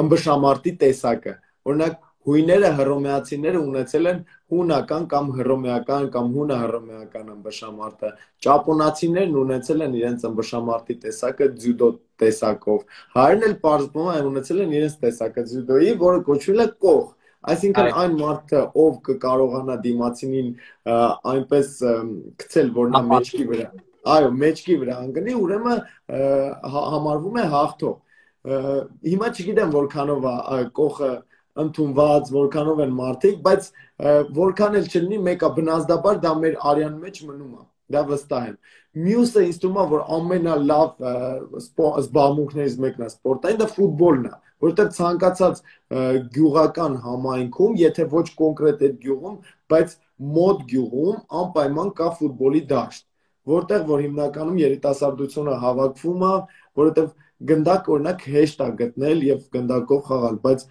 ըմբշամարտի տեսակը։ Օրինակ հույները հռոմեացիները ունեցել են հունական կամ հռոմեական կամ հունա-հռոմեական ըմբշամարտը։ Ճապոնացիներն ունեցել են իրենց ըմբշամարտի տեսակը ձյուդո տեսակով։ Հայերն էլ պարզվում է ունեցել են իրենց տեսակը ձյուդոյի, որը կոչվել է կող։ Այսինքն այն մարդը, ով կկարողանա դիմացինին այնպես գցել, որ նա մեջքի վրա, այո, մեջքի վրա ընկնի, ուրեմն համարվում է հաղթող։ Հիմա չգիտեմ որքանով է կողը ընդունված, որքանով են մարդիկ, բայց որքան էլ չլինի, մեկը բնազդաբար դա մեր արյան մեջ մնում է, դա վստահ եմ։ Մյուսը ինձ թվում է, որ ամենալավ զբաղմունքներից մեկն է սպորտային, դա ֆուտբոլն է, որովհետև ցանկացած գյուղական համայնքում, եթե ոչ կոնկրետ այդ գյուղում, բայց մոտ գյուղում անպայման կա ֆուտբոլի դաշտ, որտեղ որ հիմնականում երիտասարդությունը հավաքվում է, որովհետև գնդակ օրինակ հեշտ է գտնել եւ գնդակով խաղալ, բայց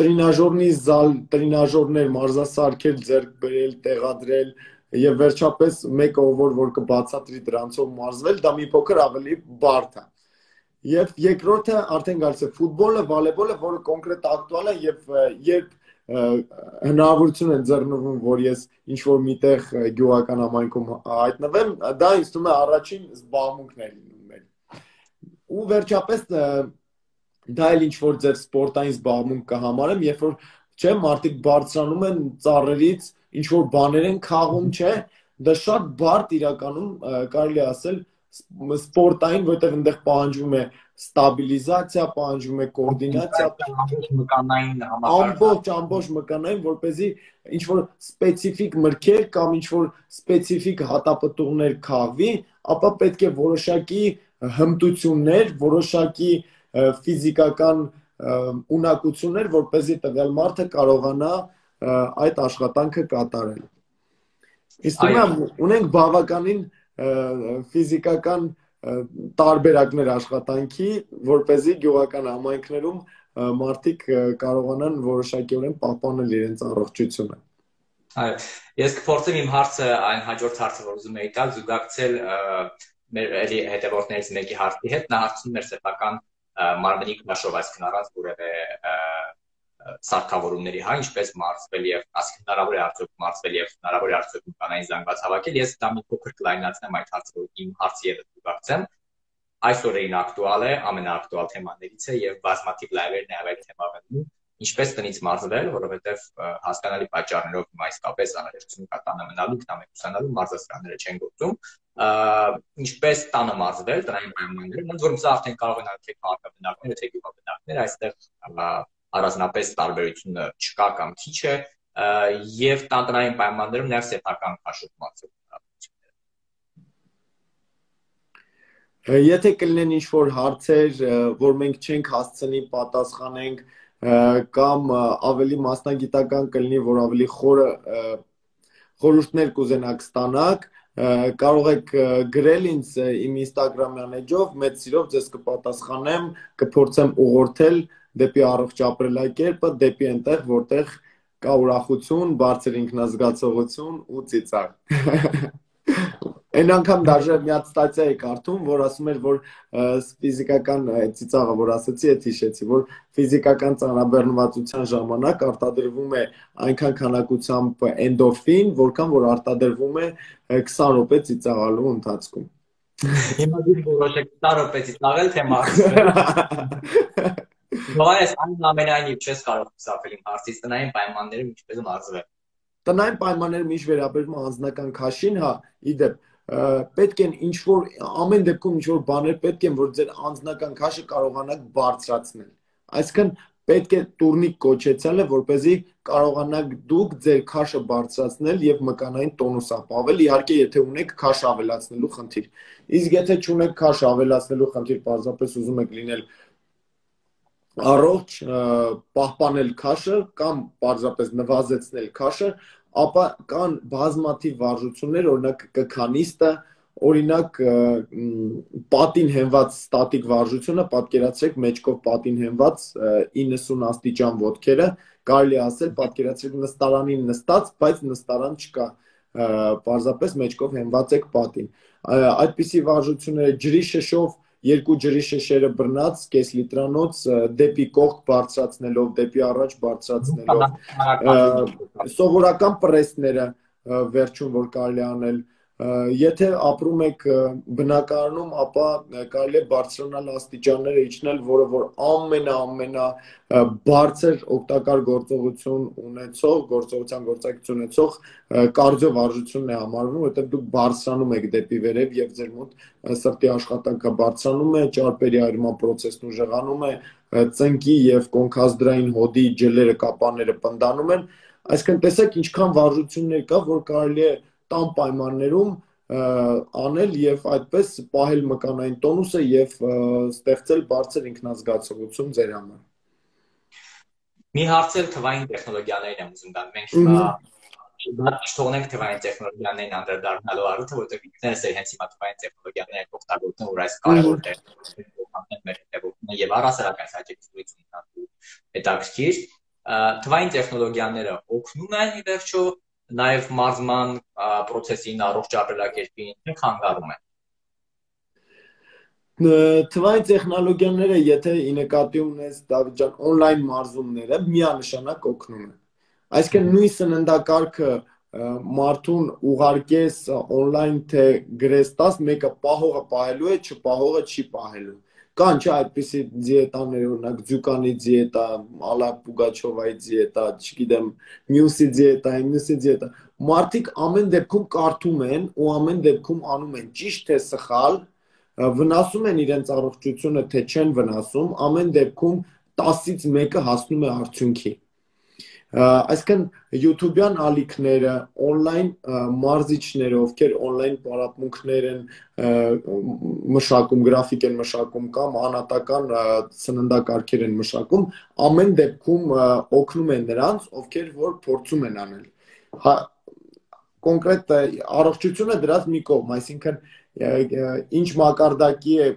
տրինաժորնի զալ, տրինաժորներ, մարզասարքեր ձեռք բերել, տեղադրել եւ վերջապես մեկը որ կբացատրի դրանցով մարզվել, դա մի փոքր ավելի բարդ է։ Եվ երկրորդը արդեն գալիս է ֆուտբոլը, վոլեյբոլը, որը կոնկրետ ակտուալ է եւ երբ հնարավորություն են ձեռնվում, որ ես ինչ-որ միտեղ գյուղական համայնքում հայտնվեմ, դա ինձ թվում է առաջին զբաղմունքն է լինում մեր։ Ու վերջապես դա էլ ինչ-որ ձեր սպորտային զբաղմունք կհամարեմ, երբ որ չէ, մարդիկ բարձրանում են ծառերից, ինչ-որ բաներ են քաղում, չէ, դա շատ բարդ իրականում կարելի ասել սպորտային, որտեղ այնտեղ պահանջվում է ստաբիլիզացիա, պահանջվում է կոորդինացիա, ամբողջ մկանային, որպեսզի ինչ-որ սպეციფიկ մրգեր կամ ինչ-որ սպეციფიկ հատապտուղներ քաղվի, ապա պետք է որոշակի հմտություններ, որոշակի ֆիզիկական ունակություններ, որպեսզի տվյալ մարդը կարողանա այդ աշխատանքը կատարել։ Իսկ ունենք բավականին ֆիզիկական տարբերակներ աշխատանքի, որպեսզի գյուղական համայնքներում մարդիկ կարողանան որոշակիորեն պահպանել իրենց առողջությունը։ Այո, ես կփորձեմ իմ հարցը այն հաջորդ հարցը, որ ուզում էի տալ, զուգակցել մեր հետևորդներից մեկի հարցի հետ, նա հարցնում էր սեփական մարմնի քնաշով, այսինքն առանց որևէ սարքավորումների, հա, ինչպես մարզվել եւ ասենք հնարավոր է արդյոք մարզվել եւ հնարավոր է արդյոք կանային զանգված հավաքել, ես դա մի փոքր կլայնացնեմ այդ հարցը, որ իմ հարցը եւս զուգակցեմ։ Այսօրին ակտուալ է, ամենաակտուալ թեմաներից է եւ բազմաթիվ լայվեր նաեւ այդ թեմավերում, ինչպես տնից մարզվել, որովհետեւ հասկանալի պատճառներով հիմա իսկապես անհրաժեշտություն կա տանը մնալու, ինքնամեկուսանալու, մարզասրանները չեն գործում, ինչպես տանը մարզվել, տնային պայմաններում, ոնց որ սա արդեն կարող են անել թե քաղաքաբնակներ, թե գյուղաբնակներ, այստեղ առանձնապես տարբերությունը չկա կամ քիչ է, եւ տնային պայմաններում նաեւ սեփական քաշով մարզել։ Եթե կլինեն ինչ-որ հարցեր, որ մենք չենք հասցնի պատասխանենք, կամ ավելի մասնագիտական կլինի, որ ավելի խորը խորհուրդներ կուզենաք ստանաք, կարող եք գրել ինձ իմ Instagram-յան էջով, մեծ սիրով ձեզ կպատասխանեմ, կփորձեմ ուղղորդել դեպի առողջ ապրելակերպը, դեպի այնտեղ, որտեղ կա ուրախություն, բարձր ինքնազգացողություն ու ծիծաղ։ Այն անգամ դաժե մի հատ ստատիա էի կարդում, որ ասում էր, որ ֆիզիկական ծիծաղը, որ ասացի, այդ հիշեցի, որ ֆիզիկական ծանրաբեռնվածության ժամանակ արտադրվում է այնքան քանակությամբ էնդորֆին, որքան որ արտադրվում է 20 րոպե ծիծաղալու ընթացքում։ Հիմա դու որոշեք 20 րոպե ծիծաղել, թե մարզվել։ Բայց ամենայնիվ չես կարող խուսափել իմ հարցից, տնային պայմաններում ինչպես մարզվել։ Տնային պայմաններում ինչ վերաբերում է անձնական քաշին, հա, իդեպ պետք են ինչ-որ ամեն դեպքում ինչ-որ բաներ պետք են, որ ձեր անձնական քաշը կարողանաք բարձրացնել։ Այսինքն պետք է տուրնիկ կոչեցնելը, որպեսզի կարողանաք դուք ձեր քաշը բարձրացնել եւ մկանային տոնուս ապավել, իհարկե եթե ունեք քաշ ավելացնելու խնդիր։ Իսկ եթե չունեք քաշ ավելացնելու խնդիր, պարզապես ուզում եք լինել առողջ, պահպանել քաշը կամ պարզապես նվազեցնել քաշը, ապա կան բազմաթիվ վարժություններ, օրինակ կքանիստը, օրինակ պատին հենված ստատիկ վարժությունը, պատկերացրեք մեջքով պատին հենված 90 աստիճան ոտքերը, կարելի ասել, պատկերացրեք նստարանին նստած, բայց նստարան չկա, պարզապես մեջքով հենված եք պատին։ Այդպիսի վարժությունները ջրի շշով, երկու ջրի շշերը բռնած, կես լիտրանոց, դեպի կողք բարձրացնելով, դեպի առաջ բարձրացնելով, սովորական պրեսները վերջում որ կարելի անել, եթե ապրում եք բնակարանում, ապա կարելի է բարձրանալ աստիճանները իջնել, որը որ ամենա բարձր օգտակար գործողություն ունեցող, գործողության գործակցություն ունեցող կարդիո վարժությունն է համարվում, որտեղ դուք բարձրանում եք դեպի վերև եւ ձեր մոտ սրտի աշխատանքը բարձրանում է, ճարպերի այրման process-ն ուժեղանում է, ծնկի եւ կոնքազդրային հոդի ջլերը, կապանները պնդանում են, այսինքն տեսեք ինչքան վարժություններ կա, որ կարելի է տան պայմաններում անել եւ այդպես պահել մկանային տոնուսը եւ ստեղծել բարձր ինքնազգացողություն ձեր համար։ Մի հարցել թվային տեխնոլոգիաներին եմ ուզում տալ։ Մենք հիմա թողնենք թվային տեխնոլոգիաներին անդրադառնալու առիթը, որտեղ ինքներս հենց հիմա թվային տեխնոլոգիաներին օգտագործում, որ այս կարևոր դեր մեր հետևողները եւ առասարակ այս հաջողությունն հետաքրքիր։ թվային տեխնոլոգիաները օգնում են ի վերջո նաև մարզման process-ին, առողջ ապրելակերպին, թե խանգարում են։ Թվային տեխնոլոգիաները, եթե ի նկատի ունես Դավիթ ջան, on-line մարզումները միանշանակ օգնում են։ Այսինքն նույն սննդակարգը մարդուն ուղարկես on-line թե գրես տաս, մեկը պահողը պահելու է, չպահողը չի պահելու։ Կան չէ այդպիսի դիետաներ, օրինակ Ձյուկանի դիետա, Ալա Պուգաչովայի դիետա, չգիտեմ, մյուսի դիետա։ Մարդիկ ամեն դեպքում կարդում են ու ամեն դեպքում անում են ճիշտ թե սխալ, վնասում են իրենց առողջությունը, թե չեն վնասում, ամեն դեպքում 10-ից 1-ը հասնում է արդյունքի։ Այսինքն YouTube-յան ալիքները, on-line մարզիչները, ովքեր on-line պարապմունքներ են մշակում, գրաֆիկ են մշակում կամ անհատական սննդակարգեր են մշակում, ամեն դեպքում օգնում են նրանց, ովքեր որ փորձում են անել։ Կոնկրետ առողջությունը դրած մի կողմ, այսինքն ինչ մակարդակի է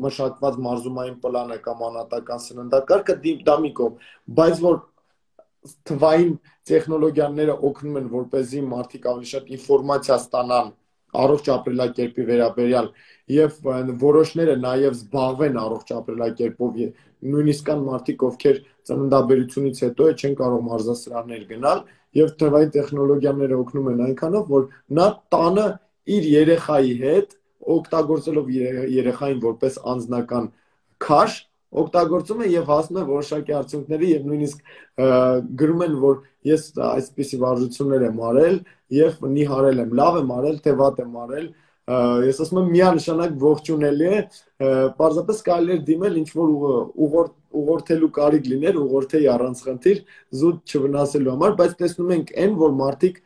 մշակված մարզումային պլանը կամ անհատական սննդակարգը, դա մի կողմ, բայց որ թվային տեխնոլոգիաները օգնում են, որպեսզի մարդիկ ավելի շատ ինֆորմացիա ստանան առողջ ապրելակերպի վերաբերյալ եւ որոշները նաեւ զբաղվեն առողջ ապրելակերպով, նույնիսկ կան մարդիկ, ովքեր ծննդաբերությունից հետո չեն կարող մարզասրահներ գնալ եւ թվային տեխնոլոգիաները օգնում են այնքանով, որ նա տանը իր երեխայի հետ օգտագործելով երեխային որպես անձնական քաշ օգտագործում է եւ հասնում է որոշակի արդյունքների եւ նույնիսկ գրում են, որ ես այսպիսի վարժություններ եմ արել եւ նիհարել եմ, լավ եմ արել, թե վատ եմ արել, ես ասում եմ միանշանակ ողջունելի է, պարզապես կարելի է դիմել ինչ որ ուղղորդելու կարիք լիներ, ուղղորդեի առանց խնդիր, զուտ չվնասելու համար, բայց տեսնում ենք այն, որ մարդիկ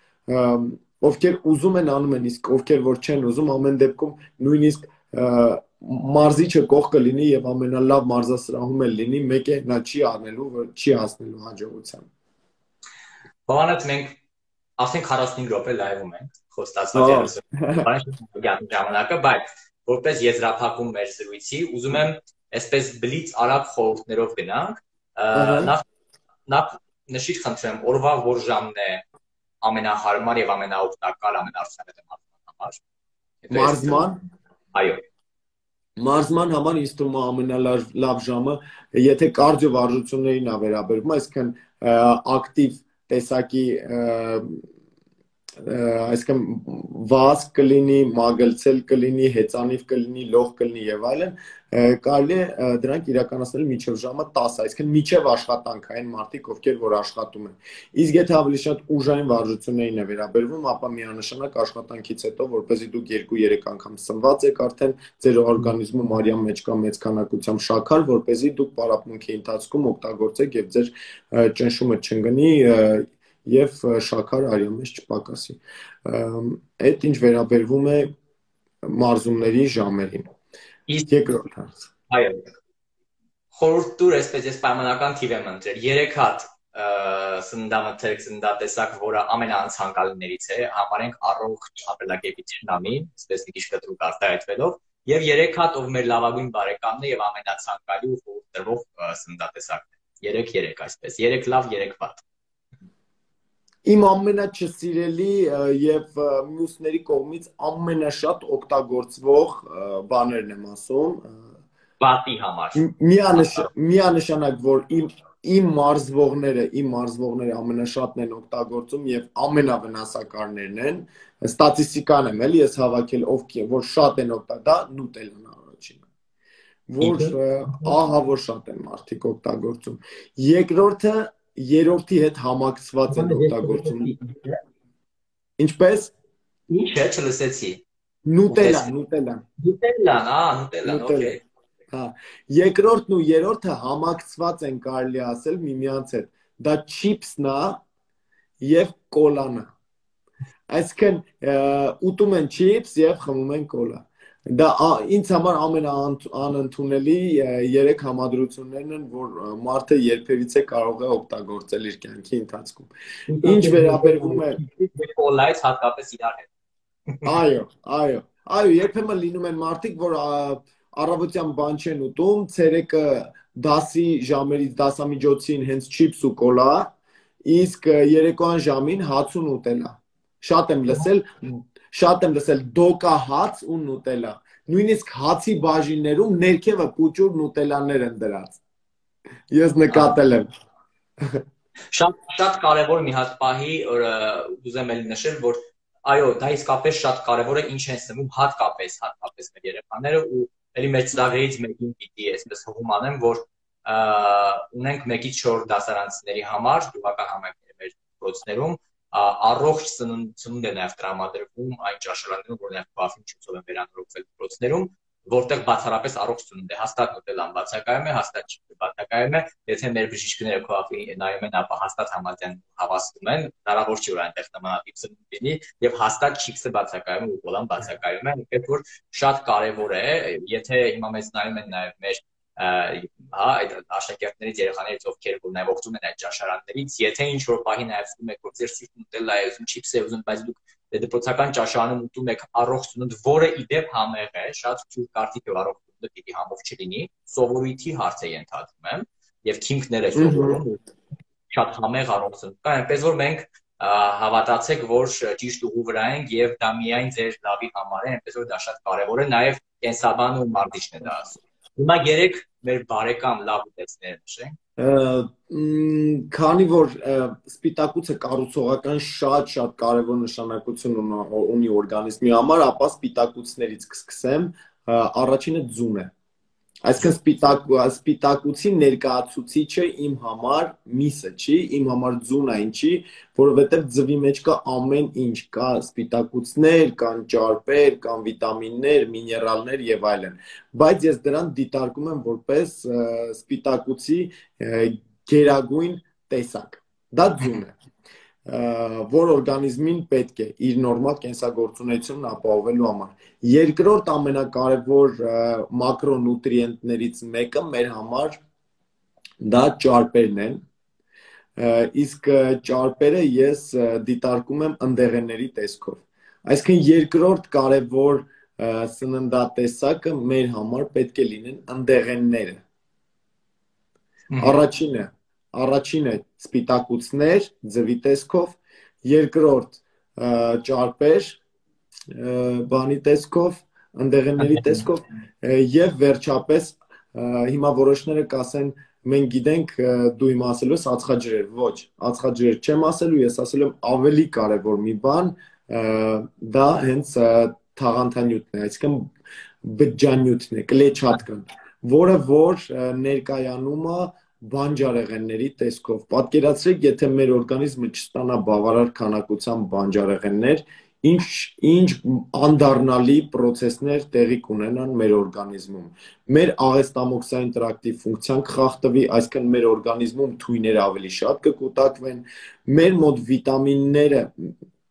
ովքեր ուզում են անում են, իսկ ովքեր որ չեն ուզում, ամեն դեպքում նույնիսկ մարզիչը կողքը լինի եւ ամենալավ մարզասրահում էլ լինի, մեկ է նա չի անելու, չի հասնելու հաջողության։ Բանից մենք ասենք 45 րոպե լայվում ենք, խոստացված 30 ժամանակը, բայց որպես եզրափակում մեր զրույցի, ուզում եմ այսպես բլից արագ խորհուրդներով գնանք, նախ նշիր խնդրեմ, օրվա որ ժամն է ամենահարմար եւ ամենաօգտակար, ամենաարդյունավետ համար։ Մարզման։ Այո։ Մարզման համար ինձ թվում է ամենալավ ժամը, եթե կարդիո վարժություններին է վերաբերվում, այսինքն ակտիվ տեսակի, այսինքն վազք կլինի, մագլցել կլինի, հեծանիվ կլինի, լող կլինի եւ այլն, կարելի է դրանք իրականացնել մինչև ժամը 10, այսինքն մինչև աշխատանքային մարդիկ, ովքեր որ աշխատում են։ Իսկ եթե ավելի շատ ուժային վարժություններին է վերաբերվում, ապա միանշանակ աշխատանքից հետո, որպեսզի դուք 2-3 անգամ սնված եք, արդեն ձեր օրգանիզմում արյան մեջ կա մեծ քանակությամբ շաքար, որպեսզի դուք պարապմունքի ընթացքում օգտագործեք եւ ձեր ճնշումը չընկնի եւ շաքարը արյան մեջ չպակասի։ Այդ ինչ վերաբերվում է մարզումների ժամերին։ Երկրորդ հարց։ Այո։ Խորհուրդ տուր, այսպես ես պայմանական թիվ եմ ընտրել 3 հատ սննդամթերք, սննդատեսակ, որը ամենաանցանկալիներից է, համարենք առողջ ապրելակերպի թշնամին, այսպես մի քիչ կտրուկ արտահայտվելով, եւ 3 հատ ով մեր լավագույն բարեկամն է եւ ամենացանկալի ու խորհուրդ տրվող սննդատեսակն է։ 3-3 այսպես, 3 լավ, 3 վատ։ Իմ ամենաչսիրելի եւ մյուսների կողմից ամենաշատ օգտագործվող բաներն եմ ասում։ Վատի համար։ Միանշանակ, որ իմ մարզվողները ամենաշատն են օգտագործում եւ ամենավնասակարներն են, ստատիստիկան եմ էլի ես հավաքել, ովքեր որ շատ են օգտագործում, դա նուտելան առաջինը։ Որ ահա որ շատ են մարդիկ օգտագործում։ Երկրորդը երրորդի հետ համակցված են օգտագործում։ Ինչպես։ Ինչ է, չլսեցի։ Նուտելան, օքեյ։ Հա, երկրորդն ու երրորդը համակցված են կարելի ասել միմյանց հետ։ Դա չիփսն է եւ կոլան է։ Այսինքն ուտում են չիփս եւ խմում են կոլա։ Դա ինձ համար ամենաանընդունելի 3 համադրություններն են, որ մարդը երբևիցե կարող է օգտագործել իր կյանքի ընթացքում։ Ինչ վերաբերվում է կոլայից հատկապես իրար հետ։ Այո, երբեմն լինում են մարդիկ, որ առավոտյան բան չեն ուտում, ցերեկը 10-ի ժամերից դասամիջոցին հենց չիփս ու կոլա, իսկ երեկոյան ժամին հաց ու նուտելա։ Շատ եմ լսել դոկա հաց ու նուտելա։ Նույնիսկ հացի բաժիններում ներքևը պուճուր նուտելաներ են դրած։ Ես նկատել եմ։ Շատ կարևոր մի հատ պահի, որ ուզեմ էլ նշել, որ այո, դա իսկապես շատ կարևոր է, ինչ են սնվում հատկապես մեր երեխաները ու էլի մեր ծրագրերից մեկին պիտի այսպես հողում անեմ, որ ունենք 1-ից 4 դասարանցիների համար գյուղական համայնքների մեր դպրոցներում առողջ սնունդ է նաև տրամադրվում այն ճաշարաններում, որ նաև բավին չուծով են վերանորոգվել դպրոցներում, որտեղ բացառապես առողջ սնունդ է, հաստատ նուտելան բացակայում է, հաստատ չիփսը բացակայում է, եթե մեր բժիշկները քո ափի նայում են, ապա հաստատ համաձայն հավաստում են, հնարավոր չի որ այնտեղ նմանատիպ սնունդ լինի եւ հաստատ չիփսը բացակայում է ու կոլան բացակայում է, այնպես որ շատ կարեւոր է, եթե հիմա մեզ նայում են նաև մեր այդ աշակերտներից երեխաներից ովքեր որ նաև օգտվում են այդ ճաշարաններից, եթե ինչ որ պահի նաև ասում եք որ ձեր սիրտ նուտելա է ուզում, չիփս է ուզում, բայց դուք դպրոցական ճաշարանում ուտում եք առողջ սնունդ, որը իդեպ համեղ է, շատ ցույց կարծիք է առողջ սնունդը պիտի համով չլինի, սովորույթի հարց է ենթադրում եմ, եւ քիմքներ է սովորում, շատ համեղ առողջ սնունդ կա, այնպես որ մենք հավատացեք, որ ճիշտ ուղու վրա ենք եւ դա միայն ձեր լավի համար է, այնպես որ դա շատ կարեւոր է, նաև կենսաբանը ու մարտիչն է դա ասում։ Հիմա երեք մեր բարեկամ լավ ուտեցներ նշենք։ Քանի որ սպիտակուցը կառուցողական շատ կարևոր նշանակություն ունի օրգանիզմի համար, ապա սպիտակուցներից կսկսեմ, առաջինը ձուն է։ Այսինքն սպիտակուցի ներկայացուցիչը իմ համար միսը չի, իմ համար ձունը ինչի, որովհետև ձվի մեջ կա ամեն ինչ, կա սպիտակուցներ, կան ճարպեր, կան վիտամիններ, միներալներ եւ այլն, բայց ես դրան դիտարկում եմ որպես սպիտակուցի գերագույն տեսակ, դա ձուն է, որ օրգանիզմին պետք է իր նորմալ կենսագործունեությունն ապահովելու համար։ Երկրորդ ամենակարևոր մակրոնուտրիենտներից մեկը մեր համար դա ճարպերն են, իսկ ճարպերը ես դիտարկում եմ ընդեղենների տեսքով։ Այսինքն երկրորդ կարևոր սննդատեսակը մեր համար պետք է լինեն ընդեղենները։ Առաջինը սպիտակուցներ ձվի տեսքով, երկրորդ ճարպեր բանի տեսքով, ընդեղենների տեսքով եւ վերջապես հիմա որոշները կասեն մենք գիտենք դու հիմա ասելու ես ածխաջրեր, ոչ, ածխաջրեր չեմ ասելու, ես ասելու եմ ավելի կարևոր մի բան, դա հենց թաղանթանյութն է, այսինքն բջջանյութն է, կլեչատկան, որը որ ներկայանում է բանջարեղենների տեսքով։ Պատկերացրեք, եթե մեր օրգանիզմը չստանա բավարար քանակությամբ բանջարեղեններ, ինչ անդառնալի process-ներ տեղի կունենան մեր օրգանիզմում։ Մեր աղեստամոքսային տրակտի ֆունկցիան կխախտվի, այսինքն մեր օրգանիզմում թույները ավելի շատ կկուտակվեն, մեր մոտ վիտամինները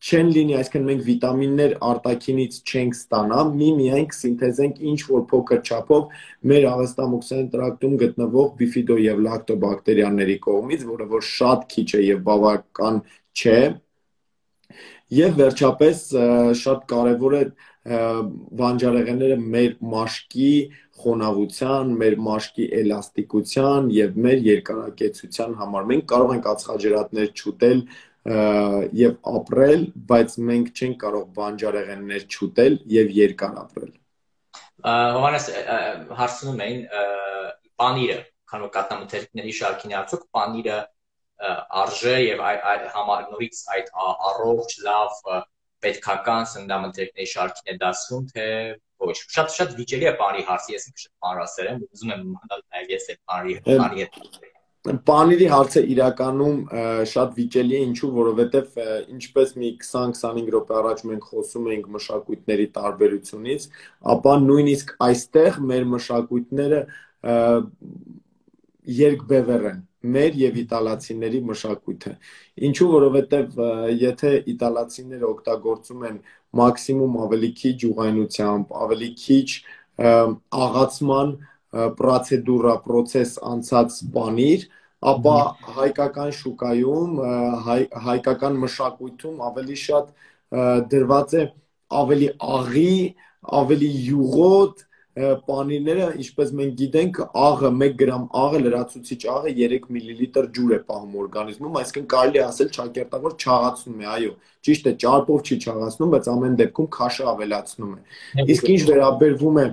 չեն լինի, այսինքն մենք վիտամիններ արտաքինից չենք ստանա, միայն կսինթեզենք ինչ-որ փոքր չափով մեր աղեստամոքսային տրակտում գտնվող բիֆիդո եւ լակտոբակտերիաների կողմից, որը որ շատ քիչ է եւ բավական չէ, եւ վերջապես շատ կարեւոր է բանջարեղենները մեր մաշկի խոնավության, մեր մաշկի էլաստիկության եւ մեր երկարակեցության համար։ Մենք կարող ենք ածխաջրատներ չուտել եւ ապրել, բայց մենք չենք կարող բանջարեղեններ չուտել եւ երկար ապրել։ Հովանես հարցնում էին պանիրը, քանի որ կատնամթերքների շարքին արդյոք պանիրը արժե եւ նորից այդ առողջ, լավ, պետքական սննդամթերքների շարքին է դասվում, թե ոչ։ Շատ վիճելի է պանիրի հարցը, ես ինքս շատ մանրասեր եմ, ուզում եմ իմանալ նաեւ ես այդ պանիրի հետ։ Պանիրի հարցը իրականում շատ վիճելի է, ինչու, որովհետև ինչպես մի 20-25 րոպե առաջ մենք խոսում էինք մշակույթների տարբերությունից, ապա նույնիսկ այստեղ մեր մշակույթները երկբևեռ են, մեր եւ իտալացիների մշակույթը։ Ինչու, որովհետև եթե իտալացիները օգտագործում են մաքսիմում ավելի քիչ ուղղայնությամբ, ավելի քիչ աղացման process անցած պանիր, ապա հայկական շուկայում, հայկական մշակույթում ավելի շատ դրված է ավելի աղի, ավելի յուղոտ, պանիրները, ինչպես մենք գիտենք, աղը 1 գրամ աղը, լրացուցիչ աղը 3 միլիլիտր ջուր է պահում օրգանիզմում, այսինքն կարելի է ասել ճակերտավոր չաղացնում է, այո, ճիշտ է, ճարպով չի չաղացնում, բայց ամեն դեպքում քաշը ավելացնում է։ Իսկ ինչ վերաբերվում է,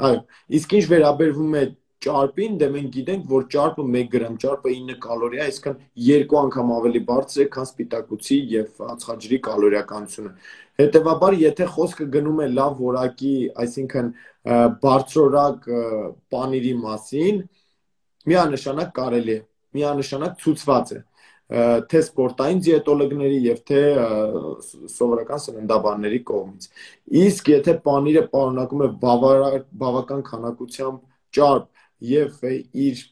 այո, իսկ ինչ վերաբերվում է ճարպին, դե մենք գիտենք, որ ճարպը 1 գրամ ճարպը 9 կալորի է, այսինքն 2 անգամ ավելի բարձր է, քան սպիտակուցի եւ ածխաջրի կալորիականությունը։ Հետևաբար, եթե խոսքը գնում է լավ որակի, այսինքն բարձրորակ պանիրի մասին, միանշանակ կարելի է, միանշանակ ցուցված է թե սպորտային դիետոլոգների եւ թե սովորական սննդաբանների կողմից։ Իսկ եթե պանիրը պարունակում է բավական քանակությամբ ճարպ եւ իր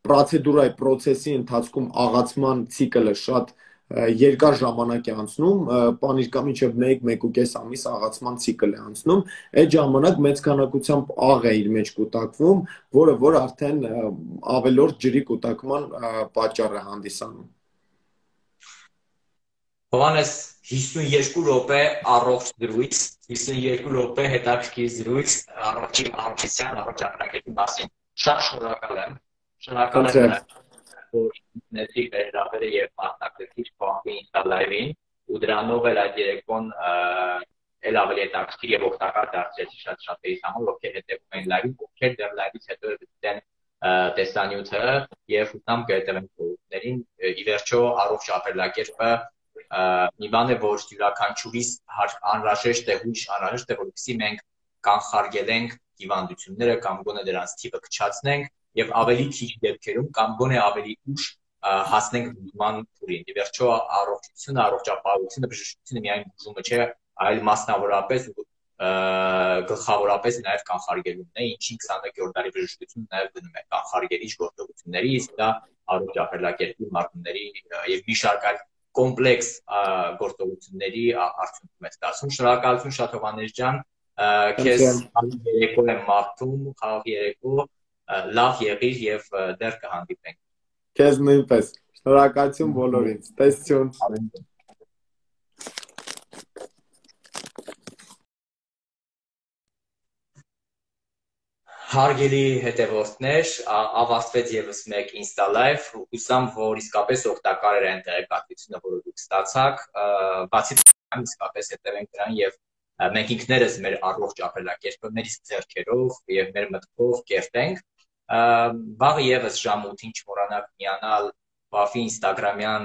պրոցեսի ընթացքում աղացման ցիկլը շատ երկար ժամանակ է անցնում, պանիր կա մինչև 1-1.5 ամիս աղացման ցիկլ է անցնում, այդ ժամանակ մեծ քանակությամբ աղ է իր մեջ կուտակվում, որ արդեն ավելորդ ջրի կուտակման պատճառ է հանդիսանում։ Հովհաննես 52 րոպե առողջ զրույց, 52 րոպե հետաքրքիր զրույց առողջի առողջության, առողջ ապրակետի մասին։ Շատ շնորհակալ եմ։ Շնորհակալ եմ, որ ինքնեցի վերաբերը եւ մասնակցեցի Պահվի Insta Live-ին, ու դրանով էլ այդ երեկոն էլ ավելի հետաքրքիր եւ օգտակար դարձրեցի շատ-շատերի համար, ովքեր հետեւում են live-ին, ովքեր դեռ live-ից հետո դիտեն տեսանյութը եւ ուտամ կհետևեն խորհուրդներին։ Ի վերջո առողջ ապրելակերպը մի բան է, որ յուրաքանչյուրիս անհրաժեշտ է, հույժ անհրաժեշտ է, որպեսզի մենք կանխարգելենք հիվանդությունները կամ գոնե դրանց թիվը կչացնենք եւ ավելի քիչ դեպքերում կամ գոնե ավելի ուշ հասնենք բուժման փուլին։ Ի վերջո առողջությունը, առողջապահությունը, բժշկությունը միայն բուժումը չէ, այլ մասնավորապես ու գլխավորապես նաև կանխարգելումն է, ինչի 21-րդ դարի բժշկությունը նաև դնում է կանխարգելիչ գործողությունների, իսկ դա առողջ ապրելակերպի մարմինների եւ մի շարք այլ կոմպլեքս գործողությունների արդյունքում է ստացվում։ Շնորհակալություն շատ Հովհաննես ջան, քեզ երեկո եմ մաղթում, խաղաղ երեկո, լավ եղիր եւ դեռ կհանդիպենք։ Քեզ նույնպես։ Շնորհակալություն բոլորին։ Տեսություն։ Հարգելի հետևորդներ, ավարտվեց եւս մեկ Insta Live, հուսամ, որ իսկապես օգտակար էր այն տեղեկատվությունը, որը դուք ստացաք, բացի դրանից իսկապես հետևենք դրան եւ մենք ինքներս մեր առողջ ապրելակերպը մեր իսկ ձեռքերով եւ մեր մտքով կերտենք։ Վաղը եւս ժամ 8-ին չմոռանաք միանալ Պահվի Instagram-յան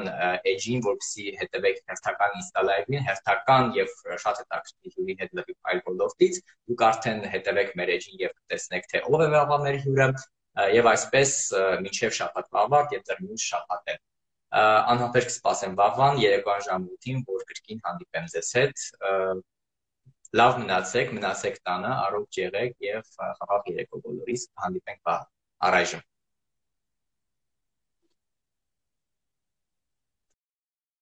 էջին, որպեսզի հետևեք հերթական Insta Live-ին, հերթական եւ շատ հետաքրքիր հյուրի հետ լրիվ այլ ոլորտից, դուք արդեն հետևեք մեր էջին եւ կտեսնեք թե ով է վաղվա մեր հյուրը եւ այսպես մինչեւ շաբաթվա ավարտ եւ դեռ մյուս շաբաթ է։ Անհապերք կսպասեմ վաղվան երեկոյան ժամ 8-ին, որ կրկին հանդիպեմ ձեզ հետ։ Լավ մնացեք տանը, առողջ եղեք եւ խաղաղ երեկո բոլորիս, հանդիպենք վաղ։ Առայժմ